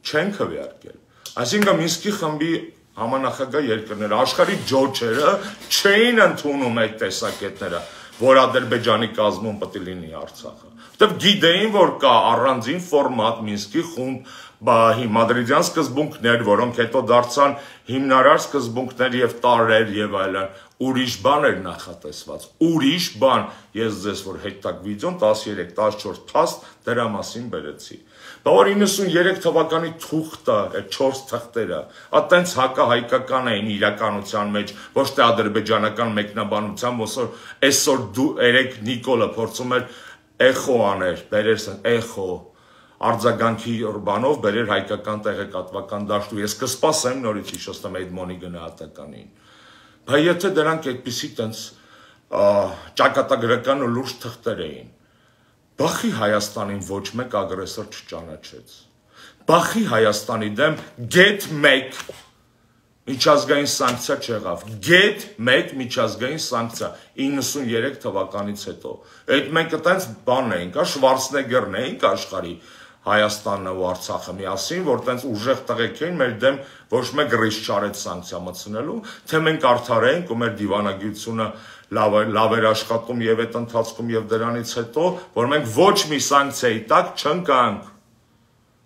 Չեն քվեարկել։ Այսինքն Մինսկի խմբի համանախագահ երկրները, աշխարհի ջոջերը չէին ընդունում այդ տեսակետները, որ Ադրբեջանի կազմում պետք է լինի Արցախը։ Որտեւ գիտեին, որ կա առանձին ֆորմատ Մինսկի խումբ, մադրիդյան սկզբունքներ, որոնք հետո դարձան հիմնարար սկզբունքներ եւ տարրեր եւ այլն, ուրիշ բան էր նախատեսված, ուրիշ բան, ես ձեզ որ հետտակ վիդեոն 13-14 փաստ դրա մասին բերեցի։ Բավարար 93 թվականի թուղթը, այդ 4 թղթերը, այտենց հակահայկական էին իրականության մեջ, ոչ թե ադրբեջանական մեկնաբանությամբ, ոսոր այսօր դու երեք Նիկոլը փորձում էր էխո աներ, բերես էխո, արձագանքի բանով բերեր հայկական տեղեկատվական դաշտու։ Ես կսպասեմ նորից հիշեցնեմ Էդմոնի գնահատականին։ Բայց եթե դրանք այդպիսի տենց ճակատագրական ու լուրջ թղթեր էին, բախի Հայաստանին ոչ մեկ ագրեսոր չճանաչեց։ Բախի Հայաստանի դեմ get 1 միջազգային սանկցիա չեղավ, get 1 միջազգային սանկցիա 93 թվականից հետո, այդ մենք այդպես բանն էինք, Շվարցնեգերն էինք աշխարհի Հայաստանն ու Արցախը միասին, որ տենց ուժեղ տղեկ էին մեր դեմ ոչ մեկ ռիսկ չարեց սանկցիա մտցնելու, թե մենք արդար էինք ու մեր դիվանագիտությունը լավ էր աշխատում եւ այդ ընթացքում եւ դրանից հետո, որ մենք ոչ մի սանկցիայի տակ չընկանք,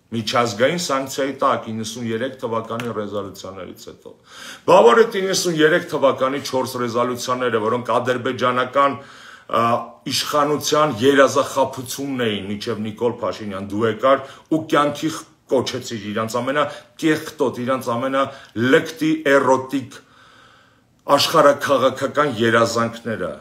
միջազգային սանկցիայի տակ 93 թվականի ռեզոլյուցիաներից հետո։ Բավարար է 93 թվականի 4 ռեզոլյուցիաները, որոնք ադրբեջանական իշխանության երազախաբությունն էին, մինչև Նիկոլ Փաշինյան դու եկար ու կյանքի կոչեցիր իրանց ամենակեղտոտ, իրանց ամենալկտի էրոտիկ աշխարհաքաղաքական երազանքները,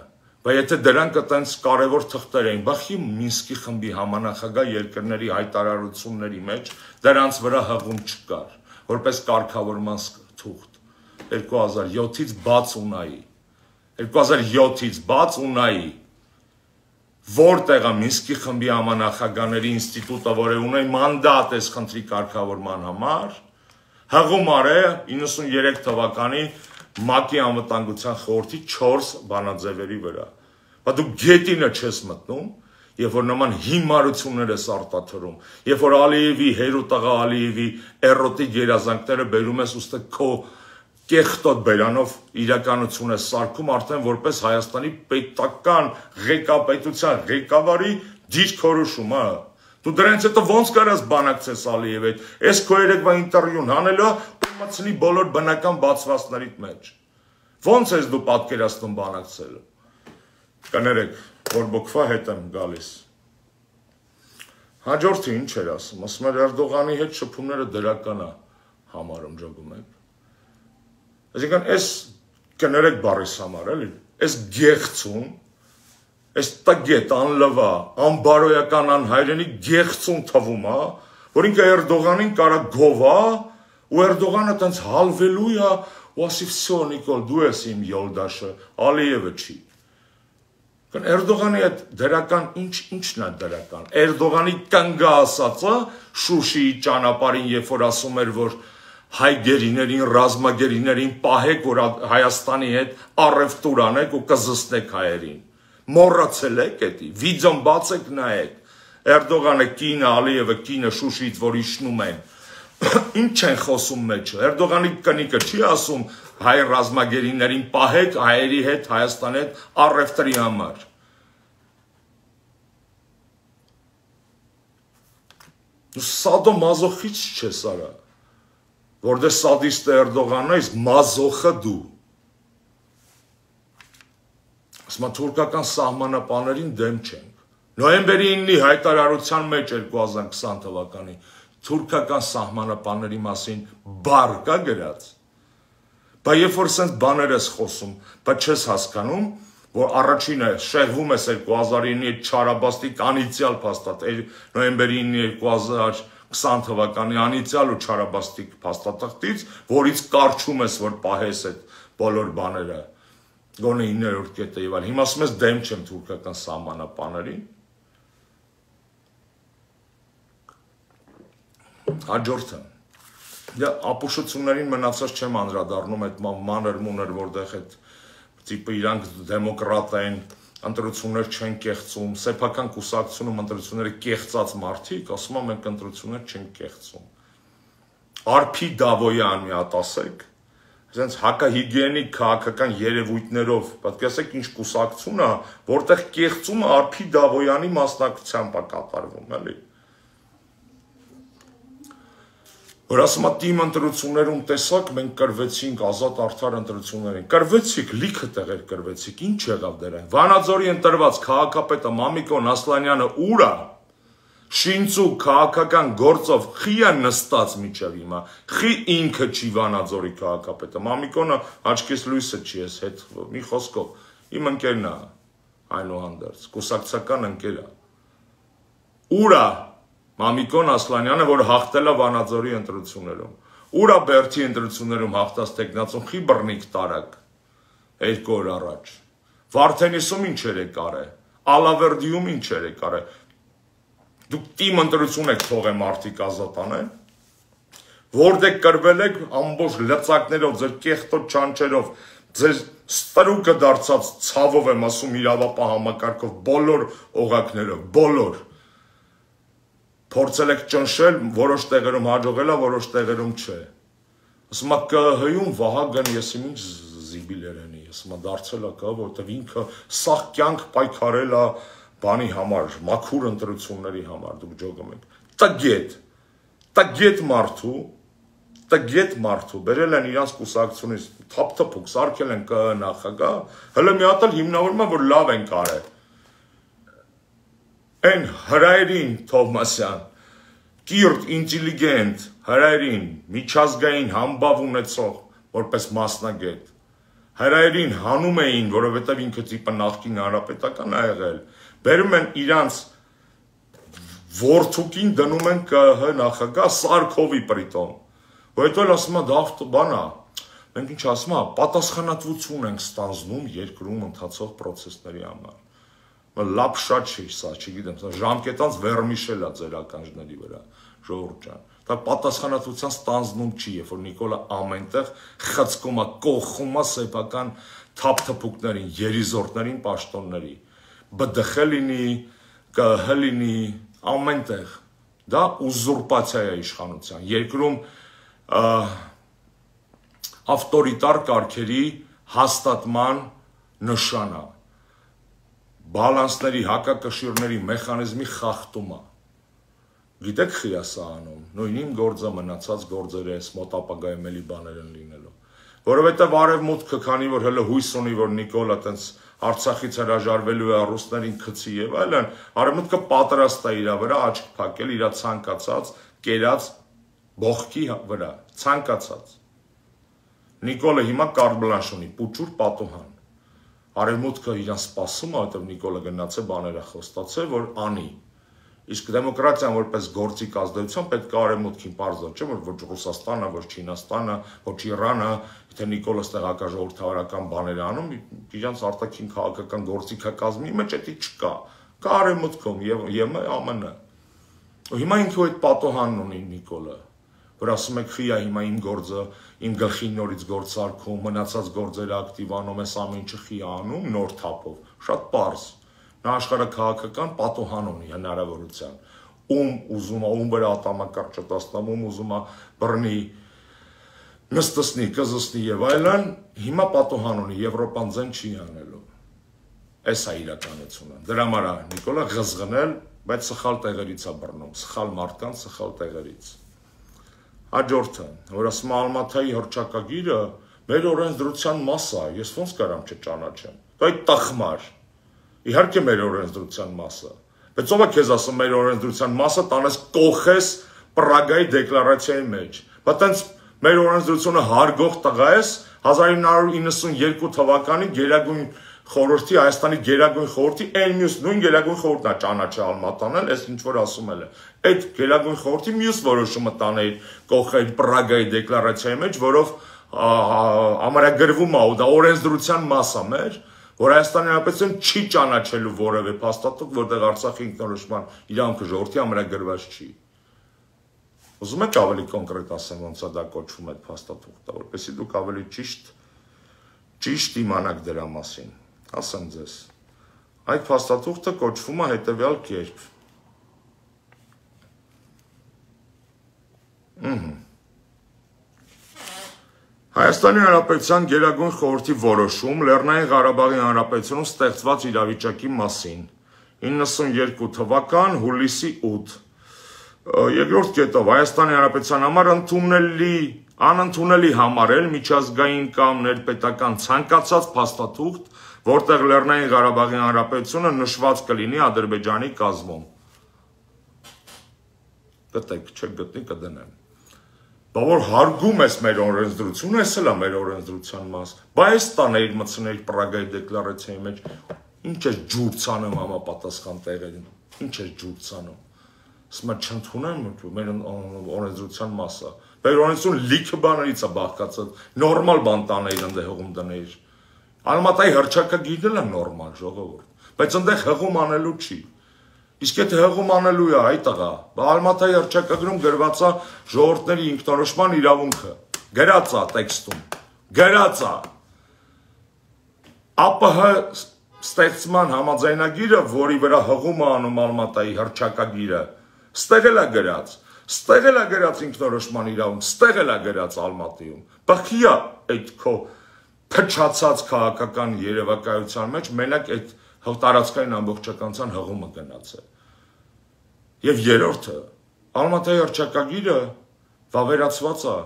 բայց եթե դրանք այտենց կարևոր թղթեր էին, բախի Մինսկի խմբի համանախագահ երկրների հայտարարությունների մեջ դրանց վրա հղում չկար, որպես կարգավորման թուղթ 2007-ից բաց ունայի, 2007-ից բաց ունայի, որտեղ է Մինսկի խմբի համանախագահների ինստիտուտը, որը ունի մանդատ այս խնդրի կարգավորման համար, հղում արե 93 թվականի ՄԱԿ-ի անվտանգության խորհրդի 4 բանաձևերի վրա։ Բայց դու գետինը չես մտնում, երբ որ նման հիմարություններ ես արտադրում, երբ որ Ալիևի, Հերուտաղա Ալիևի էրոտիկ երազանքները բերում ես ուստի քո կեղտոտ բերանով իրականություն է սարքում արդեն որպես Հայաստանի պետական ղեկավարության ղեկավարի դիրքորոշումը։ Դու դրանից հետո ոնց կարաս բանակցես Ալիևի հետ, այս քո երեկվա ինտերվյուն հանելա ու մտցնի բոլոր բնական բացվածքներիդ մեջ։ Ոնց ես դու պատկերացնում բանակցելը։ Կներեք, որ բոքվա հետ եմ գալիս։ Հաջորդը ինչ էր ասում, ասում էր Էրդողանի հետ շփումները դրական է համարում ջոգում եք։ Այսինքն այս կներեք բառիս համար էլի, այս գեղցուն, այս տագետ, անլվա, անբարոյական, անհայրենի գեղցուն թվում է, որ ինքը Էրդողանին կարա գովա, ու Էրդողանը տենց հալվելու է, ու ասի վսյո Նիկոլ, դու ես իմ յոլդաշը, Ալիևը չի։ Էրդողանի այդ դրական ինչն է դրական։ Էրդողանի կնգա ասածը Շուշիի ճանապարհին, երբ որ ասում էր, որ հայ գերիներին, ռազմագերիներին պահեք, որ Հայաստանի հետ առևտուր անեք ու կզսնեք հայերին։ Մոռացել եք էդի, վիդեոն բացեք նայեք։ Էրդողանը կինը, Ալիևը կինը Շուշիից, որ իջնում են։ Ինչ են խոսում մեջը։ Էրդողանի կնիկը չի ասում հայ ռազմագերիներին պահեք հայերի հետ, Հայաստանի հետ առևտրի համար։ Դու սադոմազոխիստտ չես արա, որ դե սադիստը Էրդողանն է, իսկ մազոխը դու։ Ասում թուրքական սահմանապաներին դեմ չենք։ Նոյեմբերի 9-ի հայտարարության մեջ 2020 թվականի թուրքական սահմանապանների մասին բառ կա գրած։ Բայց երբ որ սենց բաներ ես խոսում, բայց չես հասկանում, որ առաջինը շեղվում ես 2009-ի Չարաբաստիկ անիցիալ փաստաթ, նոյեմբերի 9-ի 2020 թվականի անիցիալ ու Չարաբաստիկ փաստաթղթից, որից կարճում ես, որ պահես այդ բոլոր բաները, գոնե 9-րդ կետը եւ այլ։ Հիմա ասում ես դեմ չեմ թուրքական սահմանապաներին։ Հաջորդը ապուշություններին մնացած չեմ անդրադառնում այդ մանր մուներ, որտեղ այդ տիպը իրանք դեմոկրատ են, ընտրություններ չեն կեղծում, սեփական կուսակցությունում ընտրությունները կեղծած մարդիկ, ասում են մենք ընտրություններ չենք կեղծում։ Արփի Դավոյան մի հատ ասեք, այսինքն հակահիգիենիկ քաղաքական երևույթներով, պատկերացեք ինչ կուսակցություն է, որտեղ կեղծումը Արփի Դավոյանի մասնակցությամբ է կատարվում, էլի։ Որ ասում է թիմ ընտրություններում տեսակ մենք կրվեցինք ազատ արդար ընտրություններին։ Կրվեցիք, լիքը տեղեր կրվեցիք, ինչ եղավ դրանք։ Վանաձորի ընտրված քաղաքապետը Մամիկոն Ասլանյանը ուր է։ Շինծու քաղաքական գործով խի է նստած միջև հիմա։ Խի ինքը չի Վանաձորի քաղաքապետը։ Մամիկոնը աչքիս լույսը չի ես հետ մի խոսքով։ Իմ ընկերն է այնուհանդերձ, կուսակցական ընկեր է։ Ուր է Մամիկոն Ասլանյանը, որ հաղթել է Վանաձորի ընտրություններում։ Ուր է Բերդի ընտրություններում հաղթած տեխնացուն խի բռնիկ տարակ 2 օր առաջ։ Վարդենիսում ինչ էր եկարը, Ալավերդիում ինչ էր եկարը։ Դուք թիմ ընտրություն եք թողել մարդիկ ազատ անեն։ Որտեղ կրվել եք ամբողջ լծակներով, ձեր կեղտոտ չանչերով, ձեր ստրուկը դարձած ցավով եմ ասում իրավապահ համակարգով, բոլոր օղակներով, բոլոր փորձել եք ճնշել, որոշ տեղերում հաջողել է, որոշ տեղերում չէ։ Ասում է ԿՀ-ում Վահագն եսիմ ինչ զիբիլերենի, ասում է դարձել է կա, որտեղ ինքը սաղ կյանք պայքարել է բանի համար, մաքուր ընտրությունների համար, դուք ջոգում եք։ Տգետ մարդու, բերել են իրանց կուսակցությունից, թափթփուկ, սարքել են ԿՀ նախագահ, հələ մի հատ էլ հիմնավորում է, որ լավ են կարել։ Այն հրայրին Թովմասյան, կիրթ, ինտելիգենտ, հրայրին, միջազգային համբավ ունեցող, որպես մասնագետ, հրայրին հանում էին, որովհետև ինքը տիպը նախկին հանրապետական ա եղել, բերում են իրանց որդուկին դնում են ԿՀ նախագահ Սարքովի պրիտոմ, որ հետո էլ ասում է դա բան է, մենք ինչ ասում է, պատասխանատվություն ենք ստանձնում երկրում ընթացող պրոցեսների համար։ Լապ շատ չի սա, չգիտեմ, ժամկետանց վերմիշել է ձեր ականջների վրա, ժողովուրդ ջան։ Դա պատասխանատվության ստանձնում չի, երբ որ Նիկոլը ամենտեղ խցկում է, կողում է սեփական թափթփուկներին, երիզորդներին, պաշտոնների։ ԲԴԽ լինի, ԿՀ լինի, ամենտեղ։ Դա ուզուրպացիա է իշխանության։ Երկրում ավտորիտար կարգերի հաստատման նշան է։ Բալանսների, հակակշիռների մեխանիզմի խախտումը։ Գիտեք խի է սա անում, նույն իմ գործը մնացած գործերը ես մոտ ապագայում էլի բաներ են լինելու։ Որովհետև արևմուտքը, քանի որ հələ հույս ունի, որ Նիկոլը տենց Արցախից հրաժարվելու է ռուսներին գցի եւ այլն, արևմուտքը պատրաստ է իր վրա աչք փակել իր ցանկացած կերած բողքի վրա, ցանկացած։ Նիկոլը հիմա կարտ բլանշ ունի, պուճուր պատուհան։ Արևմուտքը իրան սպասում է, որտեղ Նիկոլը գնաց է բաները խոստացել, որ անի։ Իսկ դեմոկրատիան որպես գործիք ազդեցություն պետք է արևմուտքին բարձր, չէ՞ որ ոչ Ռուսաստանը, ոչ Չինաստանը, ոչ Իրանը, եթե Նիկոլը ստեղ հակաժողովրդավարական բաներ անում, իրանց արտաքին քաղաքական գործիքակազմի մեջ էդի չկա։ Կա արևմուտքում եւ ԱՄՆ։ Հիմա ինքը այդ պատոհանն ունի Նիկոլը, որ ասում եք խիա հիմա իմ գործը, իմ գլխին նորից գործարկում, մնացած գործերը ակտիվանում, այս ամեն ինչը խիա անում նոր թափով, շատ պարզ։ Նա աշխարհաքաղաքական պատոհան ունի հնարավորության, ում ուզում է, ում վրա ատամակարգ չտասնամ, ում ուզում է բռնի, նստսնի, կզսնի եւ այլն, հիմա պատոհան ունի, Եվրոպան ձեն չի անելու։ Այս է իրականությունը։ Դրա համար է Նիկոլը ղզղնել, բայց սխալ տեղերից է բռնում, սխալ մարդկանց սխալ տեղերից։ Հաջորդը, որ ասում է Ալմաթայի հռչակագիրը մեր օրենսդրության մաս է, ես ոնց կարամ չճանաչեմ։ Դա այդ տխմար։ Իհարկե մեր օրենսդրության մասը։ Բայց ով է քեզ ասում մեր օրենսդրության մասը տանես կողես Պրագայի դեկլարացիայի մեջ։ Բայց տենց մեր օրենսդրությունը հարգող տղա ես 1992 թվականի Գերագույն խորհրդի, Հայաստանի Գերագույն խորհրդի այն մյուս նույն Գերագույն խորհուրդն է ճանաչել Ալմատանել, այս ինչ որ ասում էլ է։ Այդ Գերագույն խորհրդի մյուս որոշումը տանել կողել Պրագայի դեկլարացիայի մեջ, որով ամրագրվում է, դա օրենսդրության մաս է մեր, որ Հայաստանի Հանրապետություն չի ճանաչելու որևէ փաստաթուղթ, որտեղ Արցախի ինքնորոշման իրավունքը ժողովրդի ամրագրված չի։ Ուզում եք ավելի կոնկրետ ասեմ, ոնց է դա կոչվում այդ փաստաթուղթը, որպեսզի դուք ավելի ճիշտ իմանաք դրա մասին։ Ասեմ ձեզ, այդ փաստաթուղթը կոչվում է հետևյալ կերպ։ Հայաստանի Հանրապետության Գերագույն խորհրդի որոշում Լեռնային Ղարաբաղի Հանրապետությունում ստեղծված իրավիճակի մասին 92 թվական հուլիսի 8 Երկրորդ կետով Հայաստանի Հանրապետության համար անընդունելի համարել միջազգային կամ ներպետական ցանկացած փաստաթուղթ, որտեղ Լեռնային Ղարաբաղի Հանրապետությունը նշված կլինի Ադրբեջանի կազմում։ Գտեք, չեք գտնի կդնեմ։ Բա որ հարգում ես մեր օրենսդրությունը, էս էլ է մեր օրենսդրության մաս։ Բա այս տաներ մտցնել Պրագայի դեկլարացիայի մեջ, ինչ է ջուր ցանում համապատասխան տեղերին, ինչ է ջուր ցանում։ Սմա չընդունեմ մեր օրենսդրության մասը։ Մեր օրենսդրությունը լիքը բաներից է բաղկացած, նորմալ բան տաներ ընդ հողում դներ։ Ալմատայի հռչակագիրն էլ է նորմալ ժողովուրդ, բայց ընդ հողում անելու չի։ Իսկ եթե հղում անելու է այ տղա, Ալմատայի հռչակագրում գրված է ժողովուրդների ինքնորոշման իրավունքը, գրած է տեքստում, գրած է։ ԱՊՀ ստեղծման համաձայնագիրը, որի վրա հղում է անում Ալմատայի հռչակագիրը, ստեղել է գրած, ստեղել է գրած ինքնորոշման իրավունք, ստեղել է գրած Ալմատիում։ Բախի է այդ քո փչացած քաղաքական երևակայության մեջ մենակ այդ տարածքային ամբողջականության հղումը գնացել։ Եվ երրորդը, Ալմատայի հռչակագիրը վավերացված է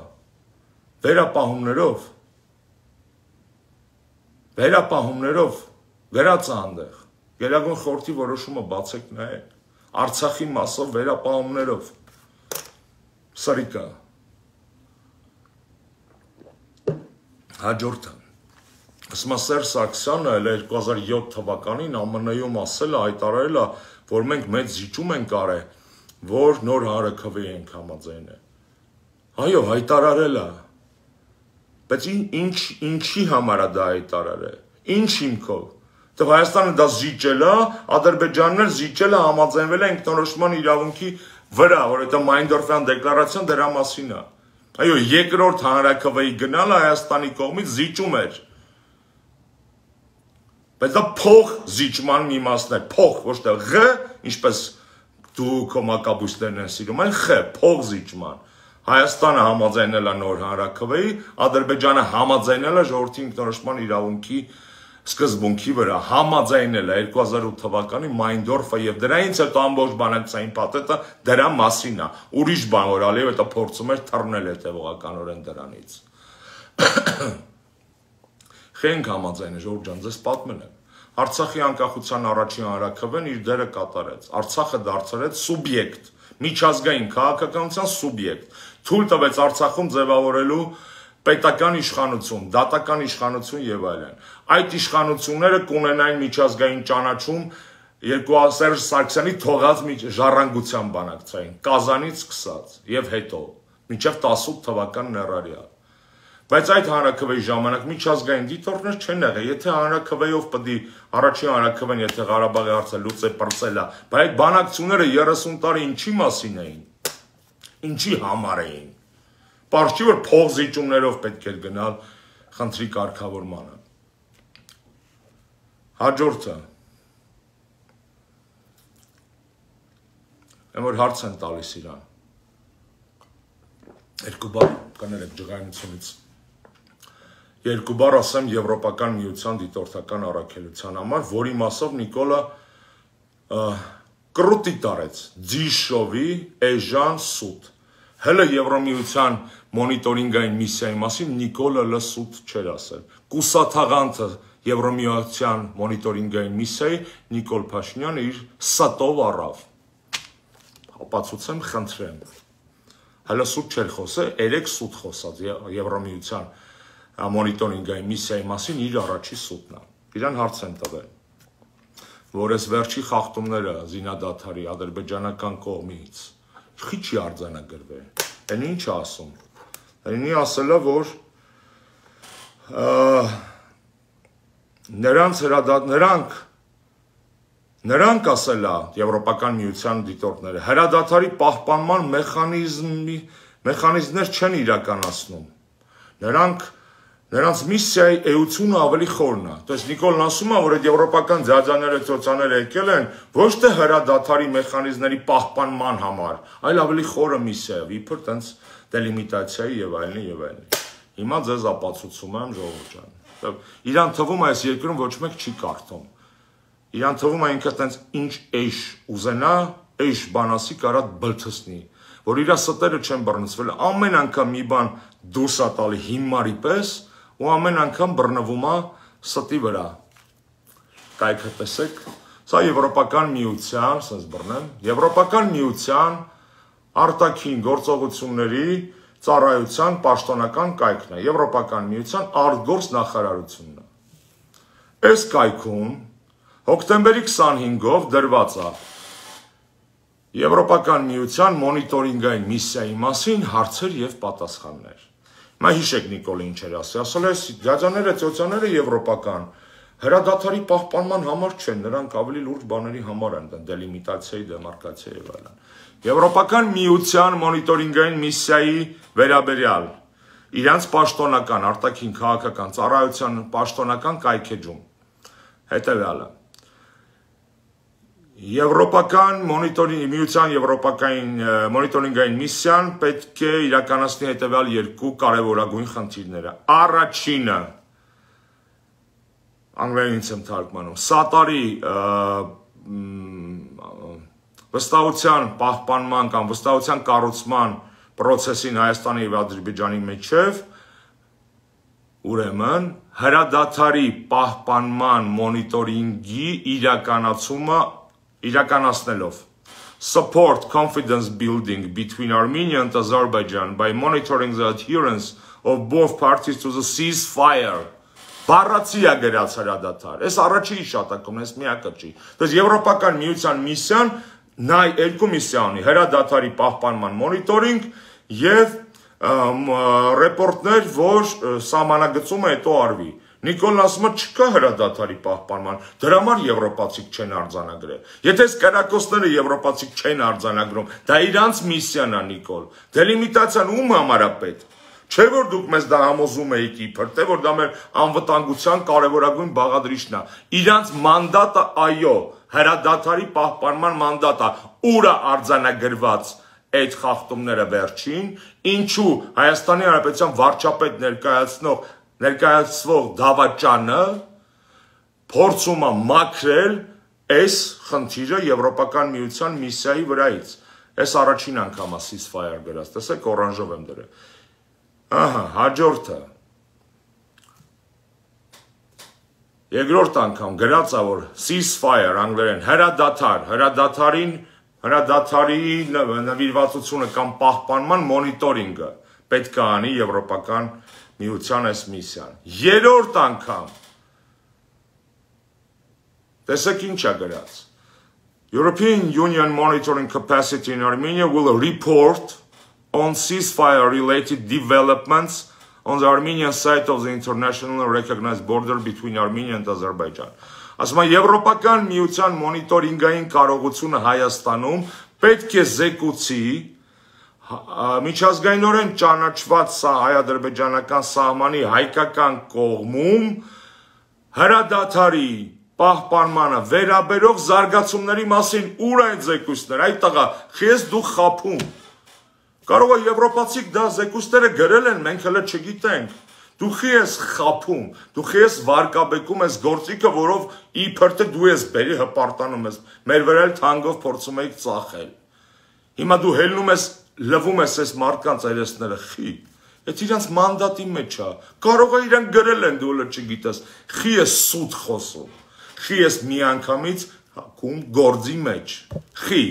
վերապահումներով գրած է այնտեղ։ Գերագույն խորհրդի որոշումը բացեք նայեք։ Արցախի մասով վերապահումներով։ Սրիկա։ Հաջորդը։ Սերժ Սարգսյանը 2007 թվականին ԱՄՆ-ում ասել է, հայտարարել է, որ մենք մեծ զիջում ենք արել, որ նոր հանրաքվեի ենք համաձայնել։ Այո, հայտարարել է։ Բայց ինչի համար է դա հայտարարել։ Ինչ հիմքով։ Դե Հայաստանը դա զիջել է, Ադրբեջանն էլ զիջել է, համաձայնվել է ինքնորոշման իրավունքի վրա, որ դա Մայնդորֆյան դեկլարացիան դրա մասին է։ Այո, երկրորդ հանրաքվեի գնալը Հայաստանի կողմից զիջում էր։ Բայց դա փող զիջման մի մասն է, փող, ոչ թե ղ, ինչպես դու քո մակաբույսներն են սիրում, այլ ղ, փող զիջման։ Հայաստանը համաձայնել է նոր հանրաքվեի, Ադրբեջանը համաձայնել է ժողովրդի ինքնորոշման իրավունքի սկզբունքի վրա, համաձայնել է 2008 թվականի Մայնդորֆը եւ դրանից հետո ամբողջ բանակցային փաթեթը դրա մասին է։ Ուրիշ բան որ Ալիևը դա փորձում էր թռնել հետևողականորեն դրանից։ Խենք համաձայնել ժողովուրդ ջան, ձեզ պատմել եմ։ Արցախի անկախության առաջին հանրաքվեն իր դերը կատարեց։ Արցախը դարձրեց սուբյեկտ, միջազգային քաղաքականության սուբյեկտ։ Թույլ տվեց Արցախում ձևավորելու պետական իշխանություն, դատական իշխանություն եւ այլն։ Այդ իշխանությունները կունենային միջազգային ճանաչում Սերժ Սարգսյանի թողած ժառանգության բանակցային, Կազանից սկսած եւ հետո, մինչեւ 18 թվական ներառյալ։ Բայց այդ հանրաքվեի ժամանակ միջազգային դիտորդներ չեն եղել, եթե հանրաքվեով պետք է առաջին հանրաքվեն, եթե Ղարաբաղի հարցը լուծե պրծել է, բայց այդ բանակցությունները 30 տարի ինչի մասին էին, ինչի համար էին։ Պարզ չի, որ փող զիջումներով պետք էր գնալ խնդրի կարգավորմանը։ Հաջորդը։ Եմ որ հարց են տալիս իրան։ Երկու բառ կներեք ջղայնությունից։ Երկու բառ ասեմ Եվրոպական միության դիտորդական առաքելության համար, որի մասով Նիկոլը կրուտի տարեց, ձիշովի էժան սուտ։ Հələ Եվրոմիության մոնիտորինգային միսիայի մասին Նիկոլը լսուտ չէր ասել։ Կուսաթաղանթը Եվրոմիության մոնիտորինգային միսիայի Նիկոլ Փաշինյանը իր սատով առավ։ Ապացուցեմ, խնդրեմ։ Հələ սուտ չէր խոսել, 3 սուտ խոսած Եվրոմիության մոնիտորինգային միսիայի մասին իր առաջի սուտն է։ Իրան հարց են տվել, որ այս վերջի խախտումները զինադադարի ադրբեջանական կողմից չի արձանագրվել։ Այն ինչ ասում։ Այնի ասելա, որ նրանք ասելա Եվրոպական միության դիտորդները հրադադարի պահպանման մեխանիզմներ չեն իրականացնում։ Նրանց միսիայի էությունը ավելի խորն է։ То есть Նիկոլն ասում է, որ այդ եվրոպական ձյաձաները, ծոցաները եկել են ոչ թե հրադադարի մեխանիզմների պահպանման համար, այլ ավելի խորը միսիայով, իբր տենց դելիմիտացիայի եւ այլն եւ այլն։ Հիմա ձեզ ապացուցում եմ ժողովուրդ ջան։ Իրան թվում է այս երկրում ոչ մեկ չի կարդում։ Իրան թվում է ինքը տենց ինչ էշ ուզենա, էշ բանասի կարա բլթսնի, որ իրա ստերը չեն բռնցվել, ամեն անգամ մի բան դուրս է տալի հիմարի պես ու ամեն անգամ բռնվում է ստի վրա։ Կայքը տեսեք, սա Եվրոպական միության, ասես բռնեմ, Եվրոպական միության արտաքին գործողությունների ծառայության պաշտոնական կայքն է, Եվրոպական միության արտգործ նախարարությունն է։ Այս կայքում հոկտեմբերի 25-ով դրված է Եվրոպական միության մոնիտորինգային միսիայի մասին հարցեր եւ պատասխաններ։ Հիմա հիշեք Նիկոլը ինչ էր ասել է, ձյաձաները, ծոցաները եվրոպական հրադադարի պահպանման համար չեն, նրանք ավելի լուրջ բաների համար են, դելիմիտացիայի, դեմարկացիայի եւ այլն։ Եվրոպական միության մոնիտորինգային միսիայի վերաբերյալ իրանց պաշտոնական արտաքին քաղաքական ծառայության պաշտոնական կայքեջում հետևյալը Եվրոպական միության եվրոպական մոնիտորինգային միսիան պետք է իրականացնի հետևյալ երկու կարևորագույն խնդիրները։ Առաջինը անգլերենից եմ թարգմանում, սատարի վստահության պահպանման կամ վստահության կառուցման process-ին Հայաստանի եւ Ադրբեջանի միջև ուրեմն հրադադարի պահպանման մոնիտորինգի իրականացնելով support confidence building between Armenia and Azerbaijan by monitoring the adherence of both parties to the ceasefire Բառացի է գրած հրադադար։ Այս առաջի հիշատակումն, այս միակը չի։ Դες Եվրոպական միության միսիան նայ երկու միսիա ունի, հրադադարի պահպանման մոնիտորինգ եւ ռեպորտներ, որ սահմանագծումը հետո արվի։ Նիկոլն ասում է չկա հրադադարի պահպանման, դրա համար եվրոպացիք չեն արձանագրել։ Եթե այս կրակոցները եվրոպացիք չեն արձանագրում, դա իրանց միսիան է, Նիկոլ։ Դելիմիտացիան ում համար է պետք։ Չէ որ դուք մեզ դա համոզում եք իբր, թե որ դա մեր անվտանգության կարևորագույն բաղադրիչն է։ Իրանց մանդատը այո, հրադադարի պահպանման մանդատը, ուրա արձանագրված այդ խախտումները վերջին, ինչու Հայաստանի Հանրապետության վարչապետ ներկայացվող դավաճանը փորձում է մաքրել այս խնդիրը Եվրոպական միության միսիայի վրայից։ Այս առաջին անգամ է ceasefire գրած, տեսեք օրանժով եմ դրել։ Ահա, հաջորդը երկրորդ անգամ գրած է որ ceasefire անգլերեն հրադադարի նվիրվածությունը կամ պահպանման մոնիտորինգը պետք է անի Եվրոպական միության այս միսիան։ Երրորդ անգամ տեսեք ինչ է գրած European Union monitoring capacity in Armenia will report on ceasefire-related developments on the Armenian side of the internationally recognized border between Armenia and Azerbaijan. Ասում է Եվրոպական միության մոնիտորինգային կարողությունը Հայաստանում պետք է զեկուցի միջազգայինորեն ճանաչված հայ-ադրբեջանական սահմանի հայկական կողմում հրադադարի պահպանմանը վերաբերող զարգացումների մասին ուր են զեկույցներ, այդ տղա, խես դու խափում Կարող է եվրոպացիք դա զեկույցները գրել են, մենք հələ չգիտենք։ Դու խի ես խափում, դու խի ես վարկաբեկում ես գործիքը, որով իբր թե դու ես բերի հպարտանում ես, մեր վրա էլ թանգով փորձում եք ծախել։ Հիմա դու հելնում ես, լվում ես այս մարդկանց այրեսները, խի։ Այդ իրանց մանդատի մեջ է։ Կարող է իրանք գրել են, դու հələ չգիտես։ Խի ես սուտ խոսում։ Խի ես միանգամից հակում գործի մեջ։ Խի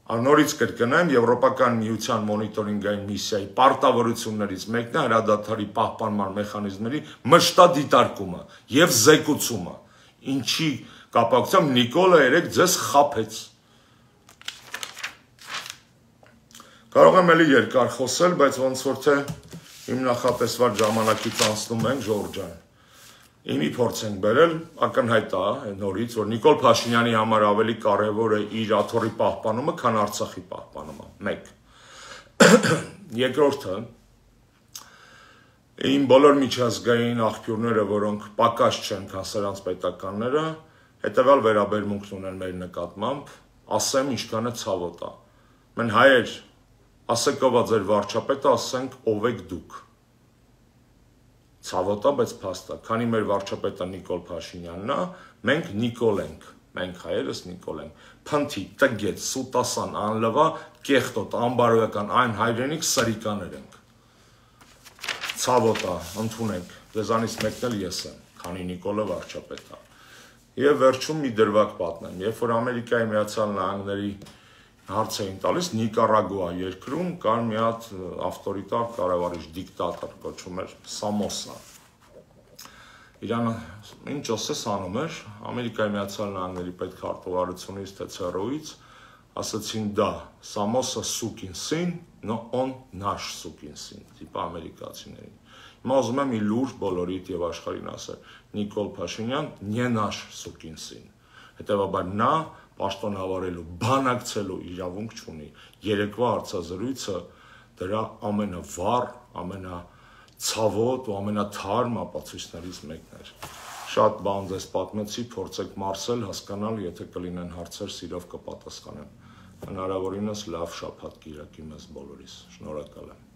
Նորից կրկնեմ Եվրոպական միության մոնիտորինգային միսիայի պարտավորություններից մեկն է հրադադարի պահպանման մեխանիզմների մշտադիտարկումը եւ զեկուցումը։ Ինչի կապակցությամբ Նիկոլը երեք ձեզ խափեց։ Կարող եմ էլի երկար խոսել, բայց ոնց որ թե իմ նախատեսված ժամանակից անցնում ենք Ժորժ ջան։ Իմի փորձ ենք բերել, ակնհայտ է նորից, որ Նիկոլ Փաշինյանի համար ավելի կարևոր է իր աթոռի պահպանումը, քան Արցախի պահպանումը։ 1 Երկրորդը իմ բոլոր միջազգային աղբյուրները, որոնք պակաս չեն, քան սրանց պետականները, հետևյալ վերաբերմունքն ունեն մեր նկատմամբ, ասեմ ինչքան է ցավոտ է։ Մեն հայեր, ասեք ով է ձեր վարչապետը, ասենք ով եք դուք։ Ցավոտ է, բայց փաստ է, քանի մեր վարչապետը Նիկոլ Փաշինյանն է, մենք Նիկոլ ենք, մենք հայերս Նիկոլ ենք, փնթի, տգետ, սուտասան, անլվա, կեղտոտ, անբարոյական, այն հայրենիք սրիկաներ ենք։ Ցավոտ է, ընդունենք, դեզանից մեկն էլ ես եմ, քանի Նիկոլը վարչապետ է։ Եվ վերջում մի դրվագ պատմեմ, երբ որ Ամերիկայի Միացյալ Նահանգների հարց էին տալիս Նիկարագուա երկրում կար մի հատ ավտորիտար կառավարիչ դիկտատոր կոչվում էր Սամոսա։ Իրանը ինչ ասես անում էր Ամերիկայի Միացյալ Նահանգների պետքարտուղարությունից թե ՑՌՈ-ից ասացին դա, Սամոսը սուկին սին, но он наш սուկին սին, տիպա ամերիկացիներին։ Հիմա ուզում եմ մի լուրջ բոլորիդ եւ աշխարհին ասել, Նիկոլ Փաշինյան не наш սուկին սին։ Հետևաբար նա պաշտոնավարելու, բանակցելու իրավունք չունի։ Երեկվա հարցազրույցը դրա ամենավառ, ամենացավոտ ու ամենաթարմ ապացույցներից մեկն էր։ Շատ բան ձեզ պատմեցի, փորձեք մարսել, հասկանալ, եթե կլինեն հարցեր, սիրով կպատասխանեմ։ Հնարավորինս լավ շաբաթ կիրակի մեզ բոլորիս։ Շնորհակալ եմ։